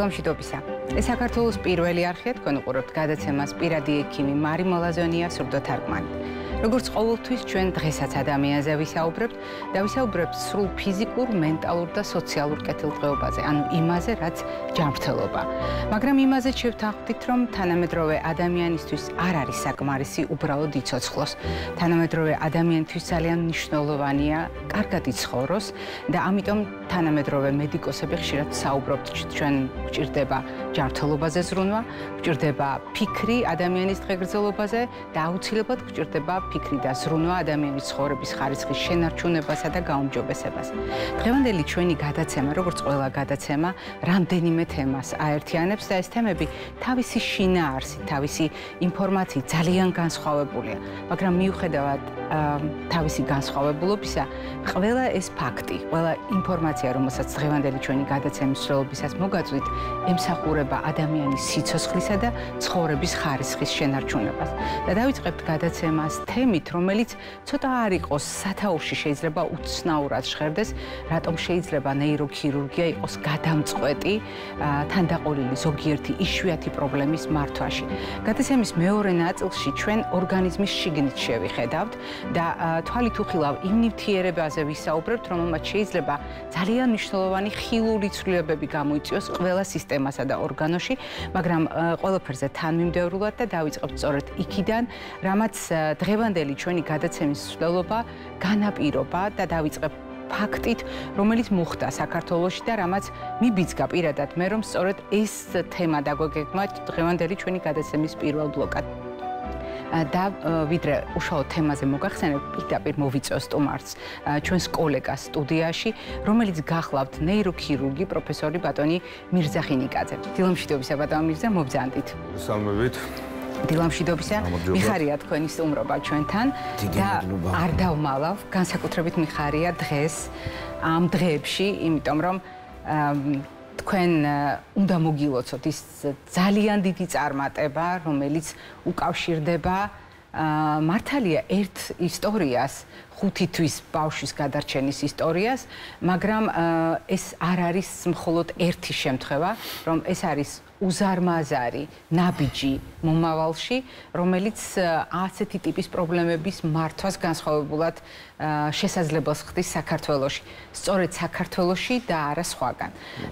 დილამშვიდობისა. ეს საქართველოს პირველი არხია, თქვენ უყურებთ გადაცემას პირადი ექიმი მარი მოლაზონია სურდოთარგმანი. Როგორც ყოველთვის ჩვენ დღესაც ადამიანზე ვისაუბრებთ და ვისაუბრებთ სრულ ფიზიკურ, მენტალურ და სოციალურ კეთილდღეობაზე, ანუ იმაზე, რაც ჯანმრთელობა. მაგრამ იმაზე შევთანხმდით, რომ თანამედროვე ადამიანისთვის არ არის საკმარისი უბრალოდ იცოცხლოს. თანამედროვე ადამიანთვის ძალიან მნიშვნელოვანია კარგად იცხოვროს და ამიტომ თანამედროვე მედიკოსები ხშირად საუბრობთ, ჩვენ გვჭირდება ჯანმრთელობაზე ზრუნვა, გვჭირდება ფიქრი ადამიანის დღეგრძელობაზე და აუცილებლად გვჭირდება ფიქრი და ზრუნვა ადამიანის ცხოვრების ხარისხის შენარჩუნებასა და გაუმჯობესებას. დღევანდელი ჩვენი გადაცემა, როგორც ყველა გადაცემა, რამდენიმე თემას აერთიანებს და ეს თემები თავისი შინაარსით, თავისი ინფორმაციით ძალიან განსხვავებულია, მაგრამ მიუხედავად თავისი განსხვავებულობისა, ყველა ეს ფაქტი, ყველა ინფორმაცია, რომელსაც დღევანდელი ჩვენი გადაცემის მსვლელობისას მოგაწვით, ემსახურება ადამიანის სიცოცხლისა და ცხოვრების ხარისხის შენარჩუნებას. და დავიწყებთ გადაცემას თემით, რომელიც ცოტა არ იყოს სათაურში, შეიძლება უცნაურად ჟღერდეს, რატომ შეიძლება ნეიროქირურგია იყოს გადამწყვეტი თანდაყოლილი ზოგიერთი იშვიათი პრობლემის მართვაში. გადაცემის მეორე ნაწილში ჩვენ ორგანიზმის შიგნით შევიხედავთ და თვალით უხილავ იმ ნივთიერებაზე ვისაუბრებთ, რომელმაც შეიძლება ძალიან მნიშვნელოვანი ხილული ცვლილებები გამოიწვიოს ყველა სისტემასა და ორგანოში, მაგრამ ყველაფერზე თანმიმდევრულად და დავიწყებთ სწორედ იქიდან, რამაც დღევანდელი ჩვენი გადაცემის მსვლელობა განაპირობა და დავიწყებ ფაქტით, რომელიც მოხდა საქართველოში და რამაც მიბიძგა პირადად მე, რომ სწორედ ეს თემა დაგვეგეგმა დღევანდელი ჩვენი გადაცემის პირველ ბლოკად. და ვიდრე უშუალოდ თემაზე მოგახსენებ, პირდაპირ მოვიწვევ სტუმარს, ჩვენს კოლეგას სტუდიაში, რომელიც გახლავთ ნეიროქირურგი პროფესორი ბატონი მირზახინიკაძე. დილამშვიდობისა ბატონ მირზა, მობრძანდით. სამებით. დილამშვიდობისა, მიხარია თქვენი სტუმრობა ჩვენთან და არ დავმალავ, განსაკუთრებით მიხარია დღეს ამ დღეებში, იმიტომ რომ თქვენ უნდა მოგილოცოთ ის ძალიან დიდი წარმატება, რომელიც უკავშირდება მართალია ერთ ისტორიას, 5 თვის ბავშვის გადარჩენის ისტორიას, მაგრამ ეს არ არის მხოლოდ ერთი შემთხვევა, რომ ეს არის უზარმაზარი ნაბიჯი მომავალში, რომელიც ასეთი ტიპის პრობლემების მართვას განსხვავებულად შესაძლებელს ხდის საქართველოში. სწორედ საქართველოში და არა სხვაგან.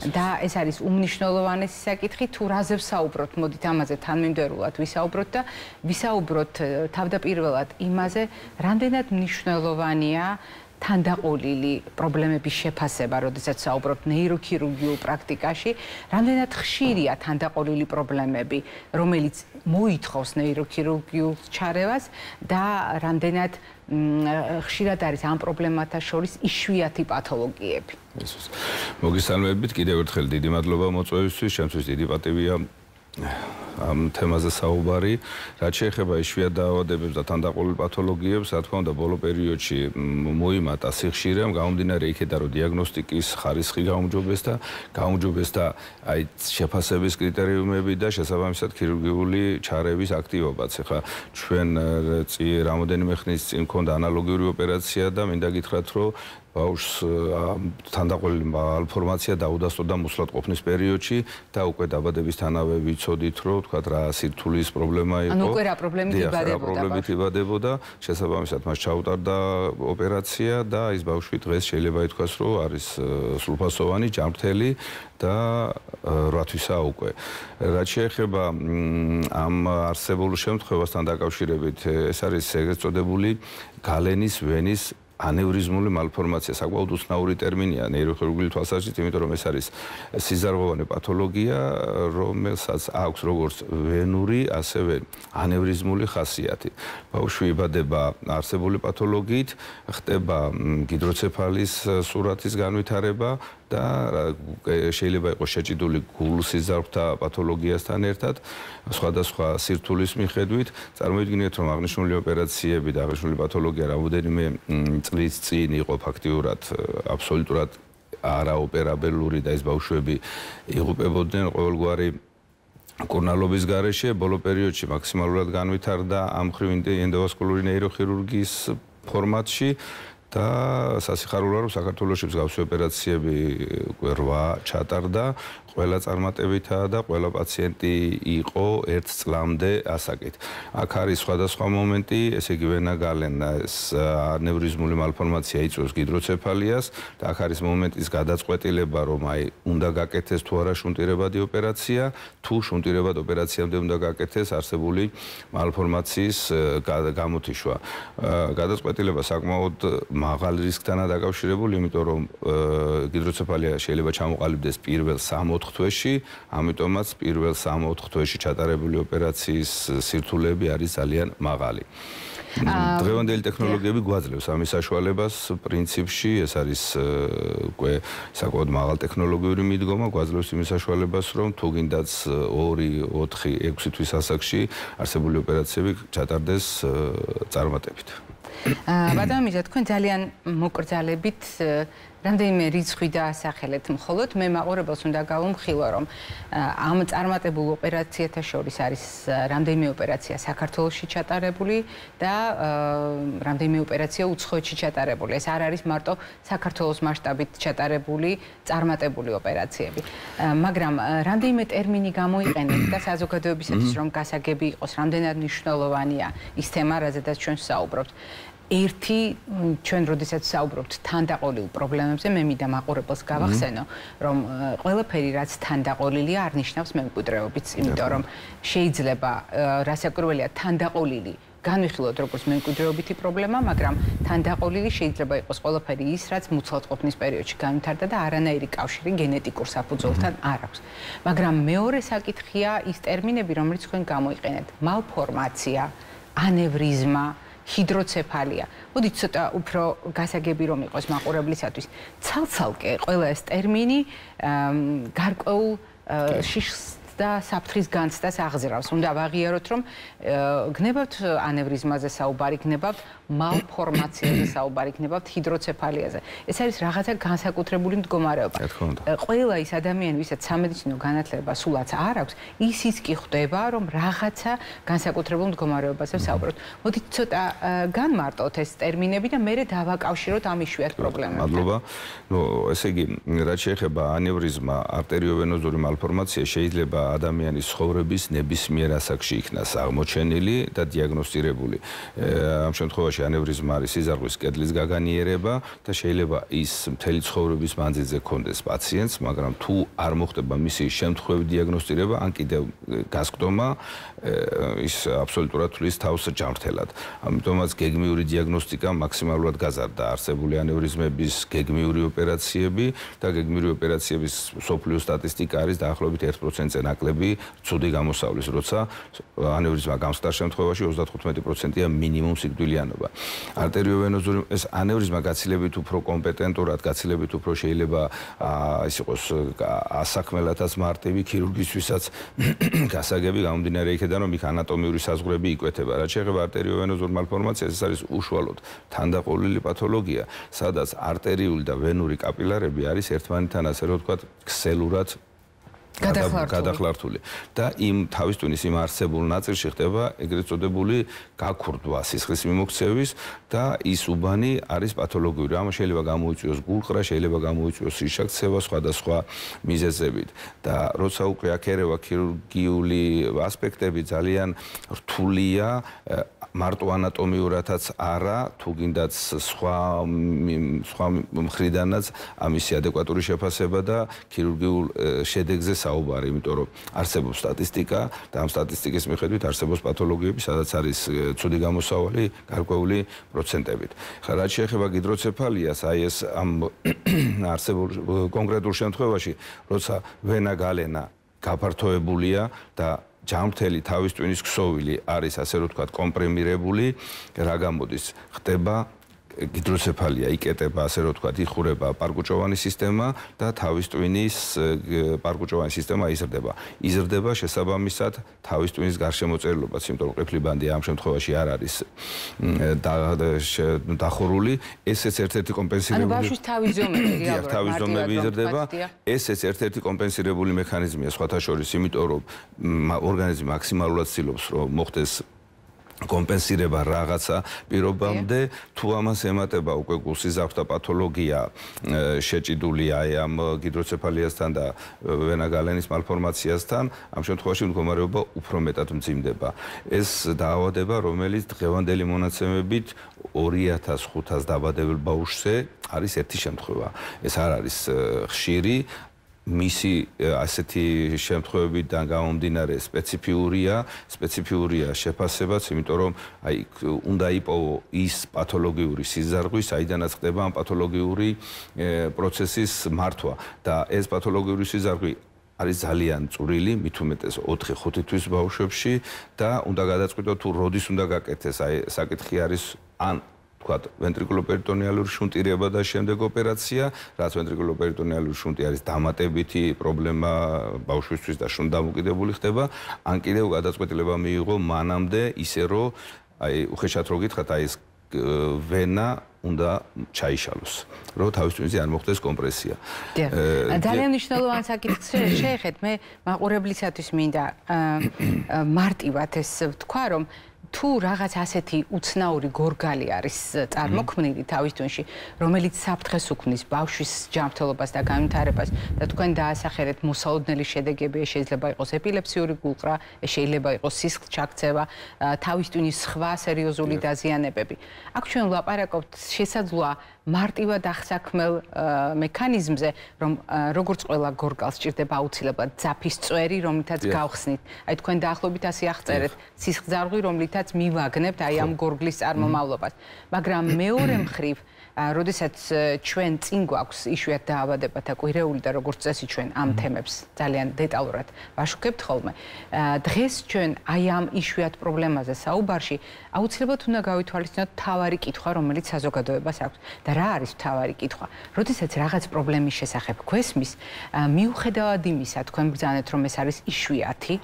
და ეს არის უმნიშვნელოვანესი საკითხი, თუ რაზე ვსაუბროთ, მოდით ამაზე თანმიმდევრულად ვისაუბროთ და ვისაუბროთ თავდაპირველად იმაზე, რამდენად მნიშვნელოვანია თანდაყოლილი პრობლემების შეფასება, როდესაც საუბრობთ ნეიროქირურგიულ პრაქტიკაში, რამდენად ხშირია თანდაყოლილი პრობლემები, რომელიც მოითხოვს ნეიროქირურგიულ ჩარევას და რამდენად ხშირად არის ამ პრობლემათა შორის იშვიათი პათოლოგიები. მოგესალმებით, კიდევ ერთხელ დიდი მადლობა მოწვევისთვის, ჩემთვის დიდი პატივია ამ თემაზე საუბარი, რაც შეეხება იშვიათ დაავადებებს და თანდაყოლილ პათოლოგიებს, რა თქმა უნდა, ბოლო პერიოდში მოიმატა სიხშირემ, გამომდინარე იქედან, რომ დიაგნოსტიკის ხარისხი გაუმჯობესდა აი შეფასების კრიტერიუმები და შესაბამისად ქირურგიული ჩარევის აქტივობაც. ეხლა ჩვენ რამოდენიმე ხნის წინ მქონდა ანალოგიური ოპერაცია და მინდა გითხრათ, რომ ბავშვს თანდაყოლილი მალფორმაცია დაუდასტურდა მოსვლად ყოფნის პერიოდში და უკვე დაბადებისთანავე ვიცოდით, რომ თქვათ რა სირთულის პრობლემა იყო. ანუ უკვე რა პრობლემით იბადებოდა. შესაბამისად მას ჩაუტარდა ოპერაცია და ის ბავშვი დღეს შეიძლება ითქვას, რომ არის სრულფასოვანი, ჯანმრთელი და 8 თვისაა უკვე. რაც შეეხება ამ არსებულ შემთხვევასთან დაკავშირებით, ეს არის ეგრეთ წოდებული გალენის ვენის ანევრიზმული მალფორმაცია, საკმაოდ უცნაური ტერმინია ნეიროქირურგიული თვალსაზრისით, იმიტომ რომ ეს არის სიზარღვოვანი პათოლოგია, რომელსაც აქვს როგორც ვენური, ასევე ანევრიზმული ხასიათი. ბავშვი იბადება არსებული პათოლოგიით, ხდება გიდროცეფალის სურათის განვითარება და შეიძლება იყოს შეჭიდული გულსიზარღვთა პათოლოგიასთან ერთად, სხვადასხვა სირთულის მიხედვით. წარმოიდგინეთ, რომ აღნიშნული ოპერაციები და აღნიშნული პათოლოგია რამოდენიმე წლის წინ იყო ფაქტიურად აბსოლუტურად არაოპერაბელური და ეს ბავშვები იღუპებოდნენ ყოველგვარი მკურნალობის გარეშე. ბოლო პერიოდში მაქსიმალურად განვითარდა ამ მხრივ ენდოვასკულური ნეიროქირურგიის ფორმატში და სასიხარულოა რომ საქართველოში მსგავსი ოპერაციები 8 ჩატარდა ყველა წარმატებითაა და ყველა პაციენტი იყო 1 წლამდე ასაკით. აქ არის სხვადასხვა მომენტი, ესე იგი ვენა გალენა, ანევრიზმული მალფორმაცია იწვევს გიდროცეფალიას და აქ არის მომენტის გადაწყვეტილება, რომ აი უნდა გაკეთდეს თუ არა შუნტირებადი ოპერაცია, თუ შუნტირებად ოპერაციამდე უნდა გაკეთდეს არსებული მალფორმაციის გამოთიშვა. გადაწყვეტილება საკმაოდ მაღალ რისკთანაა დაკავშირებული, იმიტომ რომ გიდროცეფალია შეიძლება ჩამოყალიბდეს პირველ 3-4 თვეში, ამიტომაც პირველ 3-4 თვეში ჩატარებული ოპერაციის სირთულეები არის ძალიან მაღალი. დღევანდელი ტექნოლოგიები გვაძლევს ამის საშუალებას პრინციპში, ეს არის უკვე საკმაოდ მაღალ ტექნოლოგიური მიდგომა, გვაძლევს იმის საშუალებას, რომ თუ გინდაც 2, 4, 6 თვის ასაკში არსებული ოპერაციები ჩატარდეს წარმატებით. ბატონო მიზა, თქვენ ძალიან მოკრძალებით რამდენიმე რიცხვი დაასახელეთ, მხოლოდ მე მაყურებელს უნდა გავუმხილო, რომ ამ წარმატებულ ოპერაციათა შორის არის რამდენიმე ოპერაცია საქართველოში ჩატარებული და რამდენიმე ოპერაცია უცხოეთში ჩატარებული. ეს არ არის მარტო საქართველოს მასშტაბით ჩატარებული წარმატებული ოპერაციები. მაგრამ რამდენიმე ტერმინი გამოიყენეთ და საზოგადოებისათვის რომ გასაგები იყოს, რამდენად მნიშვნელოვანია ის თემა, რაზედაც ჩვენ საუბრობთ. ერთი ჩვენ როდესაც საუბრობთ თანდაყოლილ პრობლემებზე, მე მინდა მაყურებელს გავახსენო, რომ ყველაფერი რაც თანდაყოლილია არ ნიშნავს მემკვიდრეობიც, იმიტომ რომ შეიძლება რასაკვირველია თანდაყოლილი განვიხილოთ როგორც მემკვიდრეობითი პრობლემა, მაგრამ თანდაყოლილი შეიძლება იყოს ყველაფერი ის, რაც მუცლადყოფნის პერიოდში განვითარდა და არანაირი კავშირი გენეტიკურ საფუძველთან არ აქვს. მაგრამ მეორე საკითხია ის ტერმინები, რომლებიც თქვენ გამოიყენეთ: მალფორმაცია, ანევრიზმა, ჰიდროცეფალია. მოდით ცოტა უფრო გასაგები რომ იყოს მაყურებლისათვის. ცალ-ცალკე ყველა ეს ტერმინი გარკვეულ შიშს და საფრთხის განცდას აღზრავს. უნდა ვაღიაროთ, რომ გნებავთ ანევრიზმაზე საუბარი, გნებავთ მალფორმაციაზე საუბარი, გნებავთ ჰიდროცეფალიაზე. ეს არის რაღაცა განსაკუთრებული მდგომარეობა. ყველა ის ადამიანი, ვისაც სამედიცინო განათლება სულაც არ აქვს, ისიც კი ხვდება, რომ რაღაცა განსაკუთრებულ მდგომარეობაზე საუბრობთ. მოდით ცოტა განმარტოთ ეს ტერმინები და მერე დავაკავშიროთ ამ იშვიათ პრობლემებს. მადლობა. ესე იგი, რაც შეეხება ანევრიზმა, არტერიოვენოზური მალფორმაცია შეიძლება ადამიანის ცხოვრების ნებისმიერ ასაკში იქნას აღმოჩენილი და დიაგნოსტირებული. ამ შემთხვევაში ანევრიზმა არის სიზარღვის კედლის გაგანიერება და შეიძლება ის მთელი ცხოვრების მანძილზე ქონდეს პაციენტს, მაგრამ თუ არ მოხდება მისი შემთხვევით დიაგნოსტირება, ან კიდევ გასკდომა, ის აბსოლუტურად თulis თავს ჯანმრთელად. ამიტომაც გეგმიური დიაგნოსტიკა მაქსიმალურად გაზარდა არსებული ანევრიზმების გეგმიური ოპერაციები და გეგმიური ოპერაციების მსოფლიო სტატისტიკა არის დაახლოებით 1%-ზე ნაკლები ცუდი გამოსავლის, როცა ანევრიზმა გამსტარ შემთხვევაში 35%-ია მინიმუმ სიკვდილიანობა. არტერიოვენოზური ეს ანევრიზმა გაცილებით უფრო კომპეტენტურად, გაცილებით უფრო შეიძლება ის იყოს ასაქმელათაც მარტივი, ქირურგისთვისაც გასაგები გამომდინარე იქედან, რომ იქ ანატომიური საზღვრები იკვეთება. რაც შეეხება არტერიოვენოზურ მალფორმაციას, ეს არის უშუალოდ თანდაყოლილი პათოლოგია, სადაც არტერიული და ვენური კაპილარები არის ერთმანეთთან, ასე რომ ვთქვათ, ქსელურად გადახლართული და იმ თავის ტვინის იმ არსებულ ნაწილში ხდება ეგრეთ წოდებული გაქურდვა სისხლის მიმოქცევის და ის უბანი არის პათოლოგიური. ამ შეიძლება გამოიწვიოს გულყრა, შეიძლება გამოიწვიოს შიშაქცევა სხვადასხვა მიზეზებით და როცა უკვე აქ ერევა ქირურგიული ასპექტები ძალიან რთულია, მარტო ანატომიურადაც არა, თუ გინდაც სხვა მხრიდანაც ამისი ადეკვატური შეფასება და ქირურგიულ შედეგზე საუბარი, იმიტომ რომ არსებობს სტატისტიკა და ამ სტატისტიკის მიხედვით არსებობს პათოლოგიები, სადაც არის ცუდი გამოსავალი გარკვეული პროცენტებით. რაც შეეხება გიდროცეფალიას, აი ეს ამ არსებულ კონკრეტულ შემთხვევაში, როცა ვენა გალენა გაფართოებულია და ჯანმრთელი თავის ტვინის ქსოვილი არის, ასე რომ ვთქვათ, კომპრემირებული, რა გამოდის? ხდება გიდროცეფალია, იკეტება, ასე რომ ვთქვათ, იხურება პარკუჭოვანი სისტემა და თავის ტვინის პარკუჭოვანი სისტემა იზრდება. იზრდება შესაბამისად თავის ტვინის გარშემოწერილობაც, იმიტომ რომ ყიფლი ბანდი ამ შემთხვევაში არ არის დახურული, ესეც ერთ-ერთი კომპენსირებული. ანუ ბავშვის თავის ზომები რეალურად თავის ზომები იზრდება. ესეც ერთ-ერთი კომპენსირებული მექანიზმია სხვათა შორის, იმიტომ რომ ორგანიზმი მაქსიმალურად ცდილობს, რომ მოხდეს კომპენსირება რაღაცა პირობამდე თუ ამას ემატება უკვე გულსიზარხთა პათოლოგია შეჭიდულია ამ გიდროცეფალიასთან და ვენაგალენის მალფორმაციასთან ამ შემთხვევაში მდგომარეობა უფრო მეტად მძიმდება ეს დაავადება რომელიც დღევანდელი მონაცემებით 2500 დაბადებელ ბავშვზე არის ერთი შემთხვევა ეს არ არის ხშირი მისი ასეთი შემთხვევებიდან გამომდინარე სპეციფიურია შეფასებაც, იმიტომ რომ აი უნდა იპოვო ის პათოლოგიური სიზარღვი, საიდანაც ხდება ამ პათოლოგიური პროცესის მართვა და ეს პათოლოგიური სიზარღვი არის ძალიან წვრილი, მით უმეტეს 4-5 თვის ბავშვებში და უნდა გადაწყვიტოთ თუ როდის უნდა გაკეთდეს, აი საკითხი არის ან ventriculo-peritonealuri შუნტირება და შემდეგ ოპერაცია, რაც ventriculo-peritonealuri შუნტი არის დამატებითი პრობლემა ბავშვისთვის და შუნთ დამოკიდებული ხდება, ან კიდევ გადაწყვეტილება მიიღო მანამდე ისე რომ აი უხეშად რო გითხრათ აი ეს ვენა უნდა ჩაიშალოს, რომ თავის ტვინზე არ მოხდეს კომპრესია. ძალიან მნიშვნელოვანი საკითხი შეეხეთ, მე მაყურებლისათვის მინდა მარტივად ეს ვთქვა, რომ თუ რაღაც ასეთი უცნაური გორგალი არის წარმოქმნილი თავის ტვინში, რომელიც საფრთხეს უქმნის ბავშვის ჯანმრთელობას და განვითარებას და თქვენ დაასახელეთ მოსალოდნელი შედეგები, შეიძლება იყოს ეპილეფსიური გულყრა, შეიძლება იყოს სისხლს ჩაქცევა, თავის ტვინის სხვა სერიოზული დაზიანებები. აქ ჩვენ ვლაპარაკობთ შესაძლოა მარტივად აღსაქმელ მექანიზმზე, რომ როგორც ყველა გორგალს სჭირდება აუცილებლად ძაფის წვერი, რომლითაც გავხსნით. აი თქვენ დაახლოებით ასე აღწერეთ, სისხლძარღვი, რომლითაც მივაგნებთ აი ამ გორგლის წარმომავლობას. მაგრამ მეორე მხრივ, როდესაც ჩვენ წინ გვაქვს იშვიათ დაავადებათა კვირეული და როგორც წესი ჩვენ ამ თემებს ძალიან დეტალურად ვაშუქებთ ხოლმე. დღეს ჩვენ აი ამ იშვიათ პრობლემაზე საუბარში აუცილებლად უნდა გავითვალისწინოთ მთავარი კითხვა, რომელიც საზოგადოებას აქვს. და რა არის მთავარი კითხვა? როდესაც რაღაც პრობლემის შესახებ გვესმის, მიუხედავად იმისა, თქვენ ბრძანეთ, რომ ეს არის იშვიათი,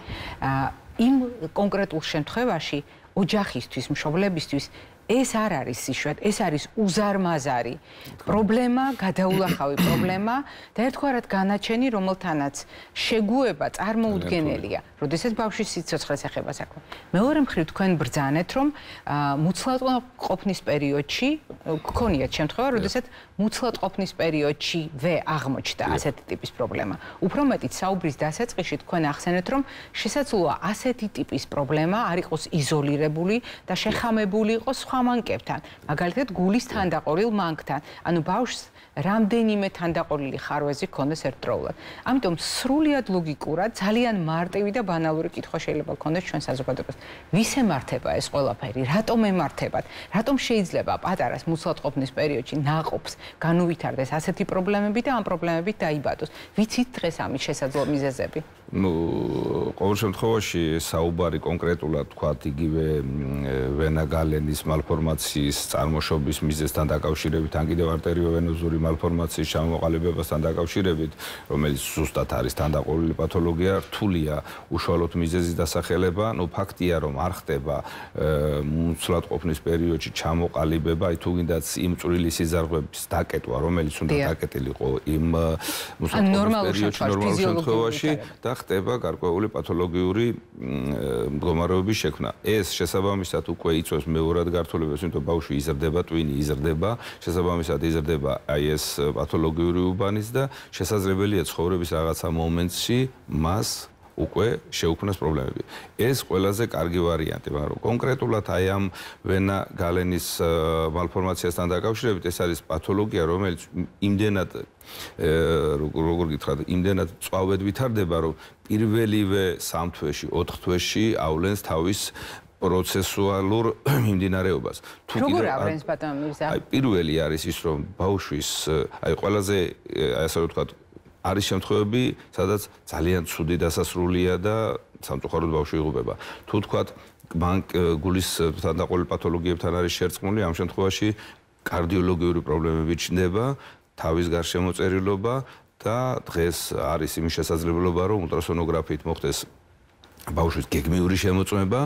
იმ კონკრეტულ შემთხვევაში ოჯახისთვის, მშობლებისთვის ეს არ არის იშვიათ, ეს არის უზარმაზარი პრობლემა, გადაულახავი პრობლემა და ერთგვარად განაჩენი, რომელთანაც შეგუება წარმოუდგენელია, როდესაც ბავშვის სიცოცხლეს ეხება საქმე. მეორე მხრივ თქვენ ბრძანეთ, რომ მუცლად ყოფნის პერიოდში გქონიათ შემთხვევა, როდესაც მუცლად ყოფნის პერიოდშივე აღმოჩნდა ასეთი ტიპის პრობლემა. უფრო მეტიც საუბრის დასაწყისში თქვენ ახსენეთ, რომ შესაძლოა ასეთი ტიპის პრობლემა არ იყოს იზოლირებული და შეხამებული იყოს სხვა მანკებთან, მაგალითად გულის თანდაყოლილ მანკთან, ანუ ბავშვს რამდენიმე თანდაყოლილი ხარვეზი ჰქონდეს ერთდროულად. ამიტომ სრულიად ლოგიკურად, ძალიან მარტივი და ბანალური კითხვა შეიძლება გქონდეს ჩვენ საზოგადოებას. ვის ემართება ეს ყველაფერი? რატომ ემართებათ? რატომ შეიძლება პატარას მუცლად ყოფნის პერიოდში ნაყოფს განუვითარდეს ასეთი პრობლემები და ამ პრობლემებით დაიბადოს? ვიცით დღეს ამის შესაძლო მიზეზები? ყოველ შემთხვევაში საუბარი კონკრეტულად თქვათ იგივე ვენაგალენის მალფორმაციის წარმოშობის მიზეზთან დაკავშირებით, ან კიდევ არტერიოვენოზური მალფორმაციის ჩამოყალიბებასთან დაკავშირებით, რომელიც ზუსტად არის თანდაყოლილი პათოლოგია, რთულია უშუალოდ მიზეზის დასახელება, ფაქტია რომ არ ხდება მუცლად ყოფნის პერიოდში ჩამოყალიბება, აი თუ გინდაც იმ წვრილი სიზარღვების დაკეტვა, რომელიც უნდა დაკეტილიყო იმ მუცლად ყოფნის პერიოდში ნორმალურ შემთხვევაში და ხდება გარკვეული პათოლოგიური მდგომარეობის შექმნა. ეს შესაბამისად უკვე იწვევს მეორად გართულებას, იმიტომ ბავშვი იზრდება, ტვინი იზრდება, შესაბამისად იზრდება აი ეს პათოლოგიური უბანის და შესაძლებელია ცხოვრების რაღაცა მომენტში მას უკვე შეუქმნას პრობლემები. ეს ყველაზე კარგი ვარიანტი, მაგრამ კონკრეტულად აი ამ ვენაგალენის მალფორმაციასთან დაკავშირებით ეს არის პათოლოგია, რომელიც იმდენად როგორ გითხრათ, იმდენად წვავედ ვითარდება, რომ პირველივე 3 თვეში, 4 თვეში ავლენს თავის პროცესუალურ მიმდინარეობას. როგორ ავრენს ბატონო მირზა? აი პირველი არის ის, რომ ბავშვის აი ყველაზე ასე ვთქვათ არის შემთხვევები, სადაც ძალიან ცუდი დასასრულია და სამწუხაროდ ბავშვი იღუპება. თუ თქვათ გულის თანდაყოლილ პათოლოგიებთან არის შერწყმული, ამ შემთხვევაში კარდიოლოგიური პრობლემები ჩნდება, თავის გარშემოწერილობა და დღეს არის იმის შესაძლებლობა, რომ ულტრასონოგრაფიით მოხდეს ბავშვის გეგმიური შემოწმება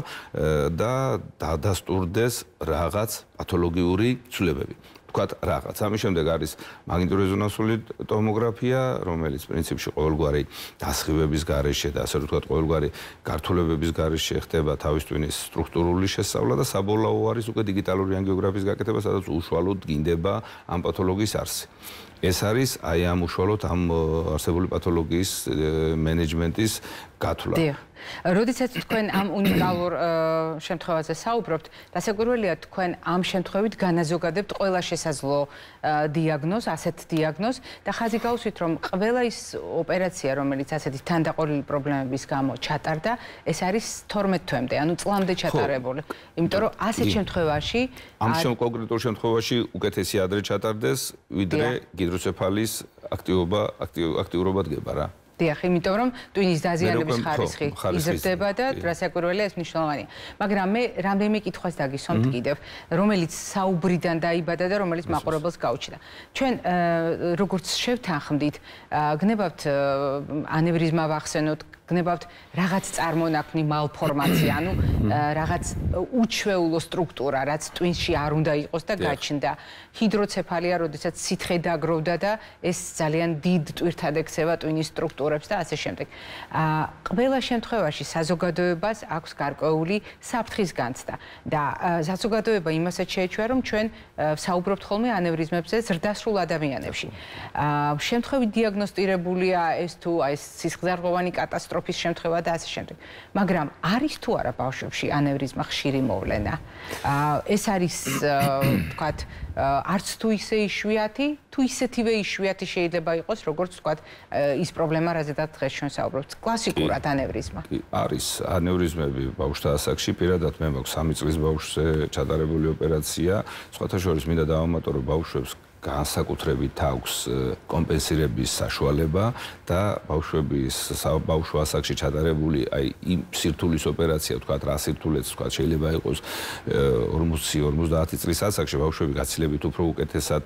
და დადასტურდეს რაღაც პათოლოგიური ცვლილებები. თქვათ რაღაც. ამის შემდეგ არის მაგნიტურეზონანსული ტომოგრაფია, რომელიც პრინციპში ყოველგვარი დასხივების გარეშე და ასე ვთქვათ ყოველგვარი გართულებების გარეშე ხდება თავის ტვინის სტრუქტურული შესწავლა და საბოლოო არის უკვე დიგიტალური ანგიოგრაფიის გაკეთება, სადაც უშუალოდ გინდება ამ პათოლოგიის არსი. ეს არის აი ამ უშუალოდ ამ არსებული პათოლოგიის მენეჯმენტის გათვლა. როდესაც თქვენ ამ უნიკალურ შემთხვევაზე საუბრობთ, დასაკვირველია თქვენ ამ შემთხვევით განაზოგადებთ ყველა შესაძლო დიაგნოზს, ასეთ დიაგნოზს და ხაზი გავუსვით, რომ ყველა ის ოპერაცია, რომელიც ასეთი თანდაყოლილი პრობლემების გამო ჩატარდა, ეს არის 12 თვემდე, ანუ წლამდე ჩატარებული. იმიტომ რომ ასეთ შემთხვევაში ამ კონკრეტულ შემთხვევაში უკეთესი ადრე ჩატარდეს, ვიდრე გიდროცეფალიის აქტიურობა დგება რა. დიახ, იმიტომ რომ ტვინის დაზიანების ხარისხი იზრდება და რასაკვირველია ეს მნიშვნელოვანია. მაგრამ მე რამდენიმე კითხვას დაგისვამთ კიდევ, რომელიც საუბრიდან დაიბადა და რომელიც მაყურებელს გაუჩნდა. ჩვენ როგორც შევთანხმდით, გნებავთ ანევრიზმა ვახსენოთ, გნებავთ რაღაც წარმონაქმნი მალფორმაცია, ანუ რაღაც უჩვეულო სტრუქტურა, რაც ტვინში არ უნდა იყოს და გაჩნდა. ჰიდროცეფალია, როდესაც სითხე დაგროვდა და ეს ძალიან დიდ ტვირთად ექცევა ტვინის სტრუქტურებს და ასე შემდეგ. ყველა შემთხვევაში საზოგადოებას აქვს გარკვეული საფრთხის განცდა და საზოგადოება იმასაც შეეჩვია, რომ ჩვენ საუბრობთ ხოლმე ანევრიზმებზე ზრდასრულ ადამიანებში. შემთხვევით დიაგნოსტირებულია ეს თუ აი სისხლძარღვოვანი კატასტროფის შემთხვევა და ასე შემდეგ. მაგრამ არის თუ არა ბავშვებში ანევრიზმა ხშირი მოვლენა? ეს არის თქვათ არც თუ ისე იშვიათი, თუ ისეთივე იშვიათი შეიძლება იყოს, როგორც თქვათ ის პრობლემა, რაზედაც დღეს ჩვენ საუბრობთ, კლასიკურად ანევრიზმა. არის ანევრიზმები ბავშვთა ასაკში, პირადად მე მაქვს 3 წლის ბავშვზე ჩატარებული ოპერაცია, სხვათა შორის მინდა დავამატო, რომ ბავშვებს განსაკუთრებით აქვს კომპენსირების საშუალება და ბავშვო ასაკში ჩატარებული აი იმ სირთულის ოპერაცია, თქვათ რა სირთულეც, თქვათ შეიძლება იყოს 40-50 წლის ასაკში ბავშვები გაცილებით უფრო უკეთესად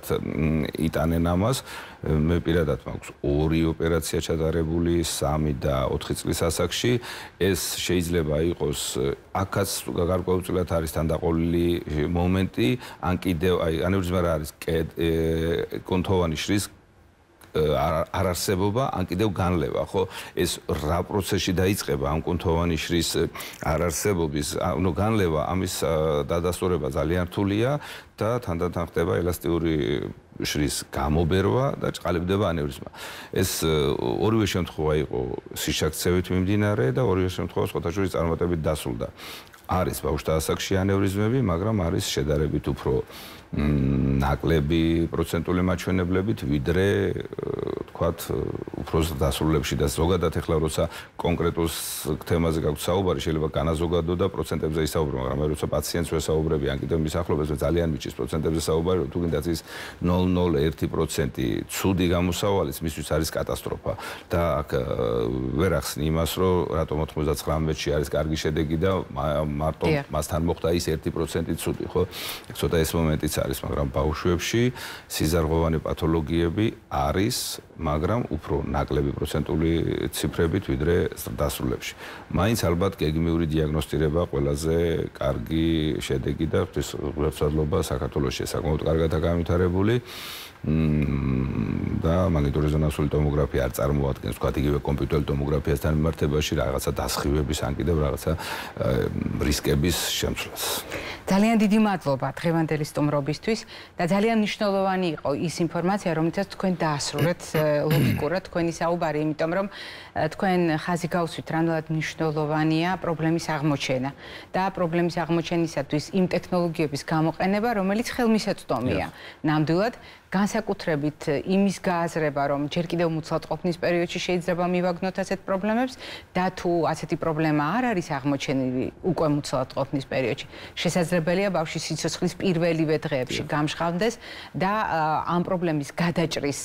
იტანენ ამას. მე პირადად მაქვს 2 ოპერაცია ჩატარებული 3 და 4 წლის ასაკში. ეს შეიძლება იყოს აქაც გარკვეულწილად არის თანდაყოლილი მომენტი, ან კიდევ აი ანევრიზმა რა არის კონთოვანი შრის არარსებობა, ან კიდევ განლევა, ხო? ეს რა პროცესში დაიწყება ამ კონთოვანი შრის არარსებობის, ანუ განლევა, ამის დადასტურება ძალიან რთულია და თანდათან ხდება ელასტიური შრის გამობერვა და ჭყალებდება ანევრიზმა. ეს ორივე შემთხვევა იყო სიშაქცევით მიმდინარე და ორივე შემთხვევა სხვათა შორის წარმატებით დასრულდა. არის ბავშვთა ასაკში ანევრიზმები, მაგრამ არის შედარებით უფრო ნაკლები პროცენტული მაჩვენებლებით, ვიდრე თქვათ უფრო დასრულებში და ზოგადად ეხლა როცა კონკრეტულ თემაზე გაქვთ საუბარი, შეიძლება განაზოგადო და პროცენტებზე ისაუბრო, მაგრამ მე როცა პაციენტს ვესაუბრები, ან კიდევ მის ახლობელს ძალიან მიჭირს პროცენტებზე საუბარი, თუ გინდათ ის 0.01% ცუდი გამოსავალიც მისთვის არის კატასტროფა და აქ ვერ ახსნი იმას, რომ რატომ 99-მეთში არის კარგი შედეგი და მარტო მასთან მოხდა ის 1% ცუდი, ხო? ცოტა ეს მომენტიც არის, მაგრამ ბავშვებში სიზარღვოვანი პათოლოგიები არის, მაგრამ უფრო ნაკლები პროცენტული ციფრებით ვიდრე დასრულებში. მაინც ალბათ გეგმიური დიაგნოსტირება ყველაზე კარგი შედეგი და ღვთისმსახურება საქართველოში საკმაოდ კარგადაა განვითარებული. და მაგნიტურეზონანსული ტომოგრაფია არ წარმოადგენს, თქვათ, იგივე კომპიუტერული ტომოგრაფიასთან მიმართებაში რაღაცა დასხივების, ან კიდევ რაღაცა რისკების შემცვლას. ძალიან დიდი მადლობა დღევანდელი სტუმრობისთვის და ძალიან მნიშვნელოვანი იყო ის ინფორმაცია, რომელსაც თქვენ დაასრულეთ ლოგიკურად თქვენი საუბარი, იმიტომ რომ თქვენ ხაზი გავუსვით, რამდენად მნიშვნელოვანია პრობლემის აღმოჩენა და პრობლემის აღმოჩენისათვის იმ ტექნოლოგიების გამოყენება, რომელიც ხელმისაწვდომია. ნამდვილად განსაკუთრებით იმის გააზრება, რომ ჯერ კიდევ მუცლადყოფნის პერიოდში შეიძლება მივაგნოთ ასეთ პრობლემებს და თუ ასეთი პრობლემა არ არის აღმოჩენილი უკვე მუცლადყოფნის პერიოდში, შესაძლებელია ბავშვის სიცოცხლის პირველივე დღეებში გამჟღავნდეს და ამ პრობლემის გადაჭრის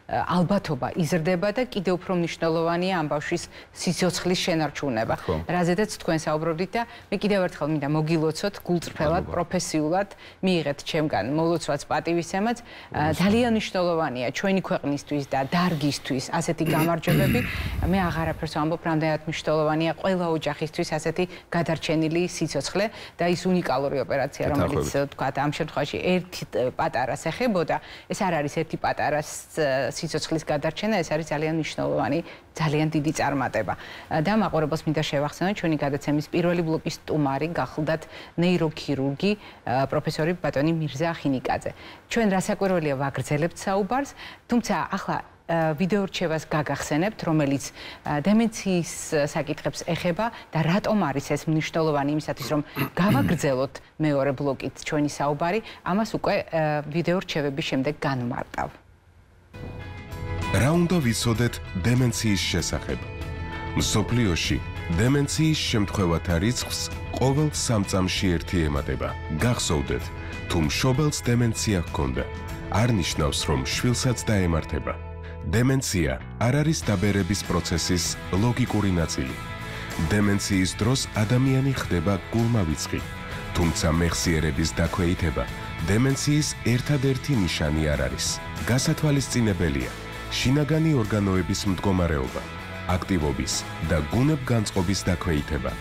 ალბათობა იზრდება და კიდევ უფრო მნიშვნელოვანია ამ ბავშვის სიცოცხლის შენარჩუნება. რაზედაც თქვენ საუბრობდით და მე კიდევ ერთხელ მინდა მოგილოცოთ გულწრფელად, პროფესიულად მიიღეთ ჩემგან მოლოცვაც, პატივისცემაც. ძალიან მნიშვნელოვანია ჩვენი ქვეყნისთვის და დარგისთვის ასეთი გამარჯვებები. მე აღარაფერს ვამბობ, რამდენად მნიშვნელოვანია ყველა ოჯახისთვის ასეთი გადარჩენილი სიცოცხლე და ის უნიკალური ოპერაცია, რომელიც თქვათ ამ შემთხვევაში ერთი პატარას ეხებოდა, ეს არ არის ერთი პატარას სიცოცხლის გადარჩენა, ეს არის ძალიან მნიშვნელოვანი, ძალიან დიდი წარმატება. და მაყურებელს მინდა შევახსენოთ ჩვენი გადაცემის პირველი ბლოკის სტუმარი გახლდათ ნეიროქირურგი პროფესორი ბატონი მირზა ხინიკაძე. ჩვენ რასაკვირველია ვაგრძელებთ საუბარს, თუმცა ახლა ვიდეო რჩევას გაგახსენებთ, რომელიც დემენციის საკითხებს ეხება და რატომ არის ეს მნიშვნელოვანი იმისათვის, რომ გავაგრძელოთ მეორე ბლოკით ჩვენი საუბარი, ამას უკვე ვიდეო რჩევების შემდეგ განვმარტავ. რა უნდა ვიცოდეთ დემენციის შესახებ? მსოფლიოში დემენციის შემთხვევათა რიცხვს ყოველ 3 წამში ერთი ემატება. გახსოვდეთ, თუ მშობელს დემენცია ჰქონდა, არ ნიშნავს, რომ შვილსაც დაემართება. დემენცია არ არის დაბერების პროცესის ლოგიკური ნაწილი. დემენციის დროს ადამიანი ხდება გულმავიწყი, თუმცა მეხსიერების დაქვეითება დემენციის ერთადერთი ნიშანი არ არის. გასათვალისწინებელია შინაგანი ორგანოების მდგომარეობა, აქტივობის და გუნებგანწყობის დაქვეითება,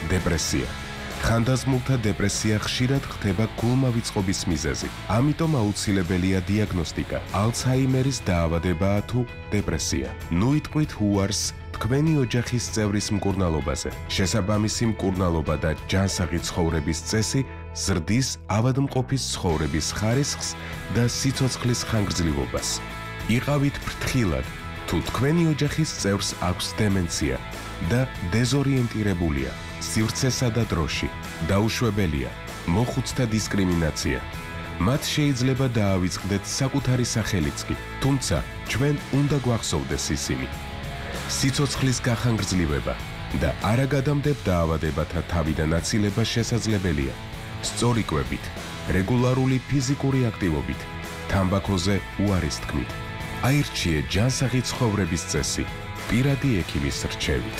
დეპრესია. ხანდაზმულთა დეპრესია ხშირად ხდება გულმავიწყობის მიზეზი. ამიტომ აუცილებელია დიაგნოსტიკა. ალცჰაიმერის დაავადებაა თუ დეპრესია. ნუ იტყვით უარს თქვენი ოჯახის წევრის მკურნალობაზე. შესაბამისი მკურნალობა და ჯანსაღი ცხოვრების წესი ზრდის ავადმყოფის ცხოვრების ხარისხს და სიცოცხლის ხანგრძლივობას. იყავით ფრთხილად, თუ თქვენი ოჯახის წევრს აქვს დემენცია და დეზორიენტირებულია. სივრცესა და დროში, დაუშვებელია, მოხუცთა დისკრიმინაცია. მათ შეიძლება დაავიწყდეთ საკუთარი სახელიც კი, თუმცა ჩვენ უნდა გვახსოვდეს ისინი. სიცოცხლის გახანგრძლივება და არაგადამდებ დაავადებათა თავიდან აცილება შესაძლებელია. სწორი კვებით, რეგულარული ფიზიკური აქტივობით, თამბაქოზე უარის თქმით. აირჩიე ჯანსაღი ცხოვრების წესი, პირადი ექიმის რჩევით.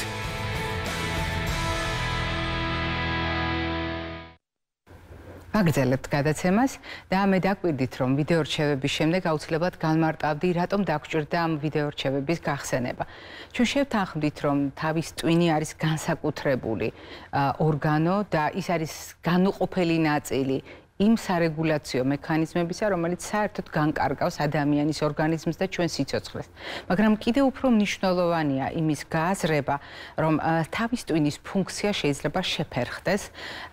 ვაგრძელებთ გადაცემას და მე დაგვირდით, რომ ვიდეო რჩევების შემდეგ აუცილებლად განმარტავდი, რატომ დაგჭირდა ამ ვიდეო რჩევების გახსენება. ჩვენ შევთანხმდით, რომ თავის ტვინი არის განსაკუთრებული ორგანო და ის არის განუყოფელი ნაწილი იმ სარეგულაციო მექანიზმებისა, რომელიც საერთოდ განკარგავს ადამიანის ორგანიზმს და ჩვენ სიცოცხლეს. მაგრამ კიდევ უფრო მნიშვნელოვანია იმის გააზრება, რომ თავის ტვინის ფუნქცია შეიძლება შეფერხდეს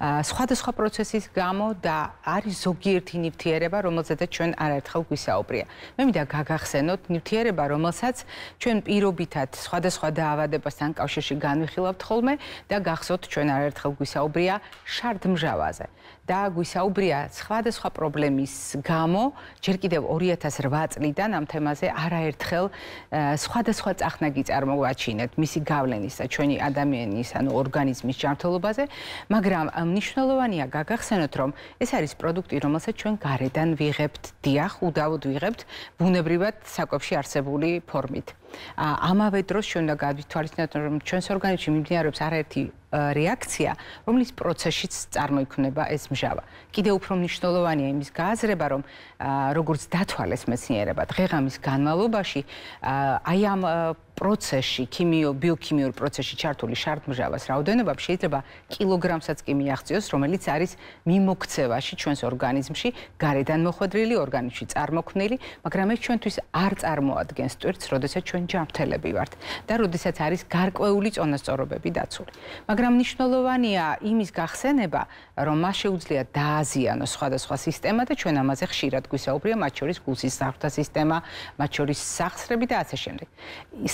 სხვადასხვა პროცესის გამო და არის ზოგიერთი ნივთიერება, რომელზედაც ჩვენ არაერთხელ გვისაუბრია. მე მინდა გაგახსენოთ ნივთიერება, რომელსაც ჩვენ პირობითად სხვადასხვა დაავადებასთან კავშირში განვიხილავთ ხოლმე და გახსოვთ ჩვენ არაერთხელ გვისაუბრია შარდმჟავაზე. და გვისაუბრია სხვადასხვა პრობლემის გამო, ჯერ კიდევ 2008 წლიდან ამ თემაზე არაერთხელ სხვადასხვა წახნაგი წარმოვაჩინეთ მისი გავლენის და ჩვენი ადამიანის, ანუ ორგანიზმის ჯანმრთელობაზე, მაგრამ მნიშვნელოვანია გაგახსენოთ, რომ ეს არის პროდუქტი, რომელსაც ჩვენ გარედან ვიღებთ, დიახ, უდავოდ ვიღებთ, ბუნებრივად საკვებში არსებული ფორმით. ამავე დროს ჩვენ უნდა გავითვალისწინოთ, რომ ჩვენს ორგანიზმში მიმდინარეობს არაერთი რეაქცია, რომლის პროცესშიც წარმოიქმნება ეს მჟავა. კიდევ უფრო მნიშვნელოვანია იმის გააზრება, რომ როგორც დათვალეს მეცნიერება დღე-ღამის განმავლობაში, აი ამ პროცესში, ბიოქიმიურ პროცესში ჩართული შარდმჟავას რაოდენობა შეიძლება კილოგრამსაც კი მიაღწიოს, რომელიც არის მიმოქცევაში ჩვენს ორგანიზმში, გარედან მოხვედრილი ორგანიზმში წარმოქმნილი, მაგრამ ეს ჩვენთვის არ წარმოადგენს ტვირთს, როდესაც ჩვენ ჯანმრთელები ვართ და როდესაც არის გარკვეული წონასწორობები დაცული. მაგრამ მნიშვნელოვანია იმის გახსენება, რომ მას შეუძლია დააზიანოს სხვადასხვა სისტემა და ჩვენ ამაზე ხშირად გვისაუბრია, მათ შორის გულსისხლთა სისტემა, მათ შორის სახსრები და ასე შემდეგ.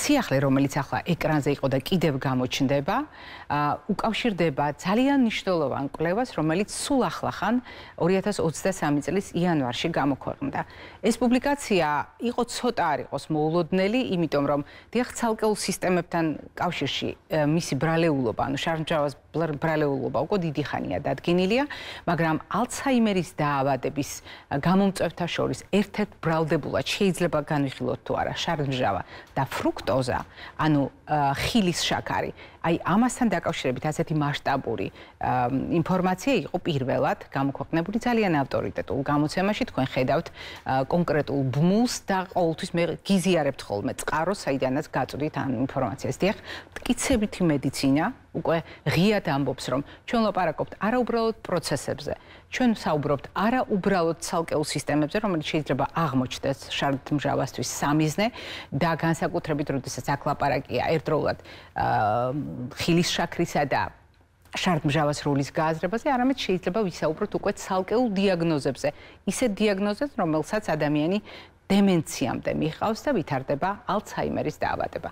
სიახლე, რომელიც ახლა ეკრანზე იყო და კიდევ გამოჩნდება, უკავშირდება ძალიან მნიშვნელოვან კვლევას, რომელიც სულ ახლახან 2023 წლის იანვარში გამოქვეყნდა. ეს პუბლიკაცია იყო ცოტა არ იყოს მოულოდნელი, იმიტომ რომ დიახ, ცალკეულ სისტემებთან კავშირში მისი ბრალეულობა, ანუ შარდმჟავას ბრალეულობა უკვე დიდი ხანია დადგენილია, მაგრამ ალცჰაიმერის დაავადების გამომწვევთა შორის ერთ-ერთ ბრალდებულად შეიძლება განვიხილოთ თუ არა შარდმჟავა და ფრუქტოზა, ანუ ხილის შაქარი. Აი ამასთან დაკავშირებით ასეთი მასშტაბური ინფორმაცია იყო პირველად გამოქვეყნებული ძალიან ავტორიტეტულ გამოცემაში. თქვენ ხედავთ კონკრეტულ ბმულს და ყოველთვის მე გიზიარებთ ხოლმე წყაროს, საიდანაც გაწვდით ამ ინფორმაციას. დიახ, მტკიცებითი მედიცინა უკვე ღიად ამბობს, რომ ჩვენ ლაპარაკობთ არა უბრალოდ პროცესებზე, ჩვენ საუბრობთ არა უბრალოდ ცალკეულ სისტემებზე, რომელიც შეიძლება აღმოჩნდეს შარდმჟავასთვის სამიზნე და განსაკუთრებით, როდესაც აქ ლაპარაკია ერთდროულად ხილის შაქრისა და შარდმჟავას როლის გააზრებაზე, არამედ შეიძლება ვისაუბროთ უკვე ცალკეულ დიაგნოზებზე, ისეთ დიაგნოზებს, რომელსაც ადამიანი დემენციამდე მიჰყავს და ვითარდება ალცჰაიმერის დაავადება.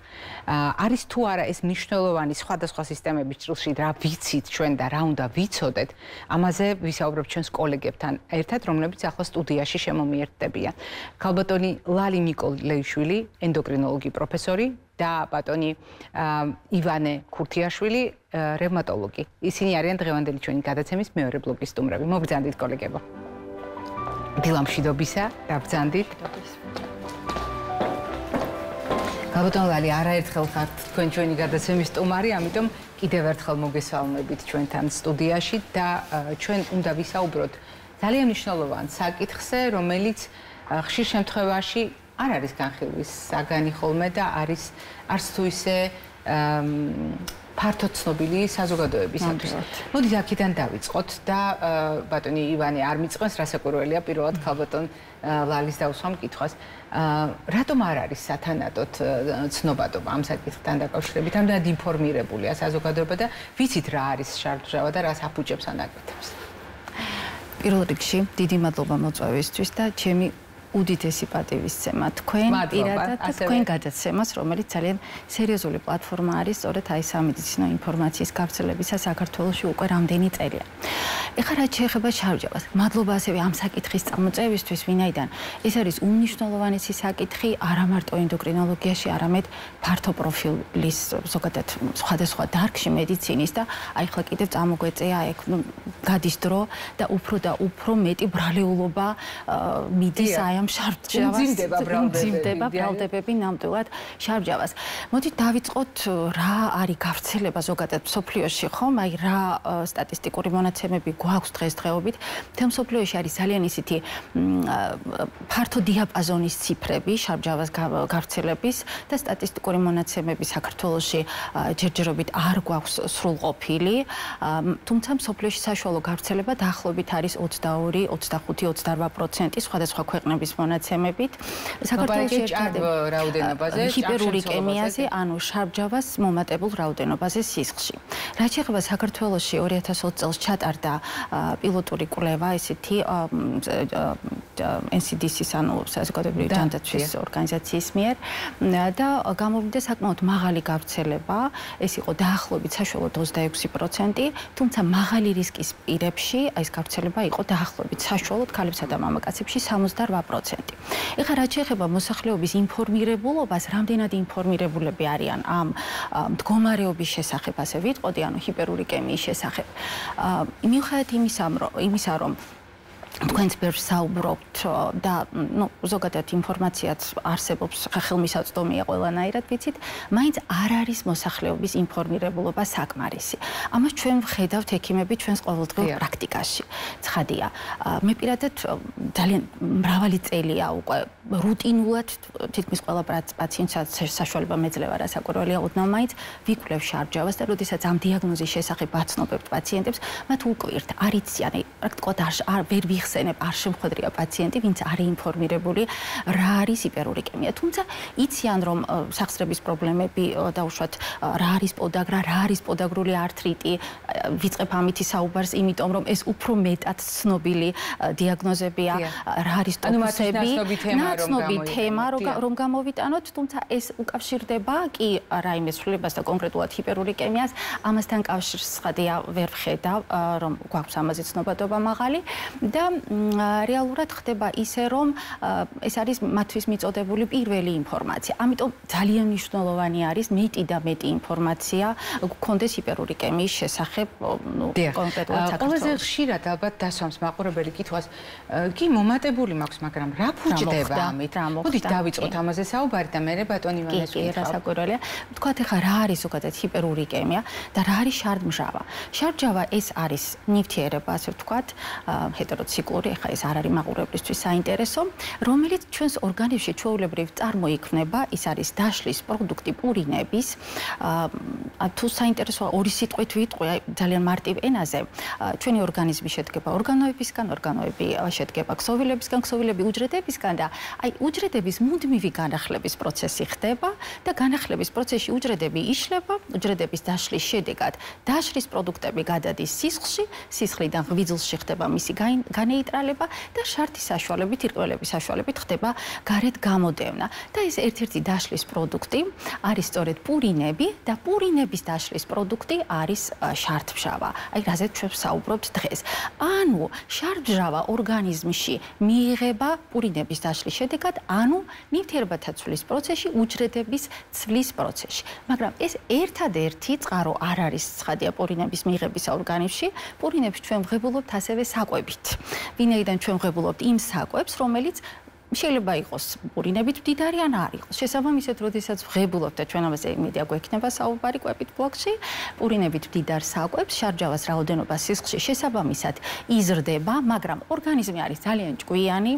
არის თუ არა ეს მნიშვნელოვანი სხვადასხვა სისტემების ჭრილში რა ვიცით ჩვენ და რა უნდა ვიცოდეთ, ამაზე ვისაუბრებთ ჩვენს კოლეგებთან ერთად, რომლებიც ახლა სტუდიაში შემომიერთდებიან. ქალბატონი ლალი ნიკოლეიშვილი, ენდოკრინოლოგი პროფესორი და ბატონი ივანე ქურთიაშვილი, რევმატოლოგი. ისინი არიან დღევანდელი ჩვენი გადაცემის მეორე ბლოკის სტუმრები. მოგბრძანდით კოლეგებო. დილამშვიდობისა, დაბრძანდით. ქალბატონ ლალი, არაერთხელ ხართ თქვენ ჩვენი გადაცემის სტუმარი, ამიტომ კიდევ ერთხელ მოგესალმებით ჩვენთან სტუდიაში და ჩვენ უნდა ვისაუბროთ ძალიან მნიშვნელოვან საკითხზე, რომელიც ხშირ შემთხვევაში არ არის განხილვის საგანი ხოლმე და არის არც თუ ისე ფართოდ ცნობილი საზოგადოებისათვის. მოდით აქედან დავიწყოთ და ბატონი ივანე არ მიწყენს, რასაკვირველია, პირველად ქალბატონ ლალის დავუსვამ კითხვას. რატომ არ არის სათანადოდ ცნობადობა ამ საკითხთან დაკავშირებით? ამდენად ინფორმირებულია საზოგადოება და ვიცით რა არის შარდმჟავა და რას აფუჭებს ანაკეთებს. პირველ რიგში დიდი მადლობა მოწვევისთვის და ჩემი უდიდესი პატივისცემა თქვენ პირადად და თქვენ გადაცემას, რომელიც ძალიან სერიოზული პლატფორმა არის სწორედ აი სამედიცინო ინფორმაციის გავრცელებისა საქართველოში უკვე რამდენი წელია. ეხლა რაც შეეხება შარდმჟავას, მადლობა ასევე ამ საკითხის წამოწევისთვის, ვინაიდან ეს არის უმნიშვნელოვანესი საკითხი არა მარტო ენდოკრინოლოგიაში, არამედ ფართო პროფილის ზოგადად სხვადასხვა დარგში მედიცინის და აი ხლა კიდევ წამოგვეწეა ეგ გადის დრო და უფრო მეტი ბრალეულობა მიდის აი ამ შარდმჟავას მძიმდება ბრალდებები ნამდვილად შარდმჟავას. მოდით დავიწყოთ რა არის გავრცელება ზოგადად მსოფლიოში, ხომ? აი რა სტატისტიკური მონაცემები გვაქვს დღესდღეობით. მთელ მსოფლიოში არის ძალიან ისეთი ფართო დიაპაზონის ციფრები შარდმჟავას გავრცელების და სტატისტიკური მონაცემები საქართველოში ჯერჯერობით არ გვაქვს სრულყოფილი, თუმცა მსოფლიოში საშუალო გავრცელება დაახლოებით არის 22, 25, 28% სხვადასხვა ქვეყნების მონაცემებით. საქართველოში რაოდენობაზე, ჰიპერურიკემიაზე, ანუ შარდმჟავას მომატებულ რაოდენობაზე სისხლში. რაც შეეხება საქართველოში 2020 წელს ჩატარდა პილოტური კვლევა, ესეთი NCDC-ის, ანუ საზოგადოებრივი ჯანდაცვის ორგანიზაციის მიერ და გამოვიდა საკმაოდ მაღალი გავრცელება, ეს იყო დაახლოებით საშუალოდ 26%, თუმცა მაღალი რისკის პირებში ეს გავრცელება იყო დაახლოებით საშუალოდ ქალებსა და მამაკაცებში 68%. ეხლა რაც შეეხება მოსახლეობის ინფორმირებულობას, რამდენად ინფორმირებულები არიან ამ მდგომარეობის შესახებ, ასე ვიტყოდი, ანუ ჰიპერურიკემიის შესახებ. მიუხედავად იმისა, რომ თქვენც ბევრს საუბრობთ და ზოგადად ინფორმაციაც არსებობს, ხელმისაწვდომია ყველანაირად ვიცით, მაინც არ არის მოსახლეობის ინფორმირებულობა საკმარისი. ამას ჩვენ ვხედავთ ექიმები ჩვენს ყოველდღიურ პრაქტიკაში. ცხადია, მე პირადად ძალიან მრავალი წელია უკვე რუტინულად თითქმის ყველა პაციენტს საშუალება მეძლევა, რასაკვირველია, ოდნავ მაინც ვიკვლევ შარდმჟავას და როდესაც ამ დიაგნოზის შესახებ ვაცნობებთ პაციენტებს, მათ უკვირთ, არ იციან, პრაქტიკულად ვერ ვიხსენებ, არ შემხვედრია პაციენტი, ვინც არ ინფორმირებული, რა არის ჰიპერურიკემია. თუმცა იციან, რომ სახსრების პრობლემები დაუშვათ, რა არის პოდაგრა, რა არის პოდაგრული ართრიტი, ვიწყებ ამითი საუბარს, იმიტომ რომ ეს უფრო მეტად ცნობილი დიაგნოზებია, რა არის ტოფუსები. ნაცნობი თემა რომ გამოვიტანოთ, თუმცა ეს უკავშირდება კი რაიმე ცვლილებას და კონკრეტულად ჰიპერურიკემიას, ამასთან კავშირს ხადია ვერ ვხედავ, რომ გვაქვს ამაზე ცნობადობა მაღალი და რეალურად ხდება ისე, რომ ეს არის მათთვის მიწოდებული პირველი ინფორმაცია. ამიტომ ძალიან მნიშვნელოვანი არის მეტი და მეტი ინფორმაცია გქონდეს ჰიპერურიკემიის შესახებ, კონკრეტულად საქართველოს. ყველაზე ხშირად ალბათ დასვამს მაყურებელი კითხვას, კი მომატებული მაქვს, მაგრამ რა ფუჭდება ამით? მოდით დავიწყოთ ამაზე საუბარი და მე ბატონი ივანეს კი, რასაკვირველია. ვთქვათ ახლა რა არის ზოგადად ჰიპერურიკემია და რა არის შარდმჟავა. შარდმჟავა ეს არის ნივთიერება, ასე ვთქვათ, ჰეტეროციკლური, ახლა ეს არ არის მაყურებლისთვის საინტერესო, რომელიც ჩვენს ორგანიზმში ჩვეულებრივ წარმოიქმნება, ის არის დაშლის პროდუქტი პურინების. თუ საინტერესოა ორი სიტყვით ვიტყვი, ძალიან მარტივ ენაზე, ჩვენი ორგანიზმი შედგება ორგანოებისგან, ორგანოები შედგება ქსოვილებისგან, ქსოვილები უჯრედებისგან და აი უჯრედების მუდმივი განახლების პროცესი ხდება და განახლების პროცესში უჯრედები იშლება, უჯრედების დაშლის შედეგად დაშლის პროდუქტები გადადის სისხლში, სისხლიდან ღვიძლში ხდება მისი განეიტრალება და შართის საშუალებით, ირკველების საშუალებით ხდება გარეთ გამოდევნა. და ეს ერთ-ერთი დაშლის პროდუქტი არის სწორედ პურინები და პურინების დაშლის პროდუქტი არის შარდმჟავა. აი რაზეც ჩვენ ვსაუბრობთ დღეს. ანუ შარდმჟავა ორგანიზმში მიიღება პურინების დაშლის შედეგად, ანუ ნივთიერებათა ცვლის პროცესში, უჯრედების ცვლის პროცესში. მაგრამ ეს ერთადერთი წყარო არ არის ცხადია პურინების მიღებისა ორგანიზმში. პურინებს ჩვენ ვღებულობთ ასევე საკვებით. ვინაიდან ჩვენ ვღებულობთ იმ საკვებს, რომელიც შეიძლება იყოს პურინებით მდიდარი ან არ იყოს. შესაბამისად, როდესაც ვღებულობთ და ჩვენ ამაზე იმედია გვექნება საუბარი კვებით ბლოგში, პურინებით მდიდარ საკვებს, შარდმჟავას რაოდენობა სისხლში შესაბამისად იზრდება, მაგრამ ორგანიზმი არის ძალიან ჭკვიანი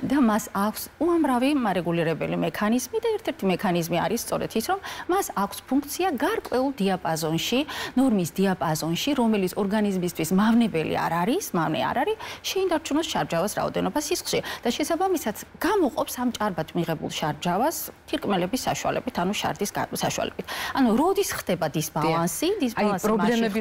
და მას აქვს უამრავი მარეგულირებელი მექანიზმი და ერთ-ერთი მექანიზმი არის სწორედ ის, რომ მას აქვს ფუნქცია გარკვეულ დიაპაზონში, ნორმის დიაპაზონში, რომელიც ორგანიზმისთვის მავნებელი არ არის, შეინარჩუნოს შარდმჟავას რაოდენობა სისხლში და შესაბამისად გამოყოფს ამ ჭარბად მიღებულ შარდმჟავას თირკმელების საშუალებით, ანუ შარდის საშუალებით. ანუ როდის ხდება დისბალანსი, პრობლემები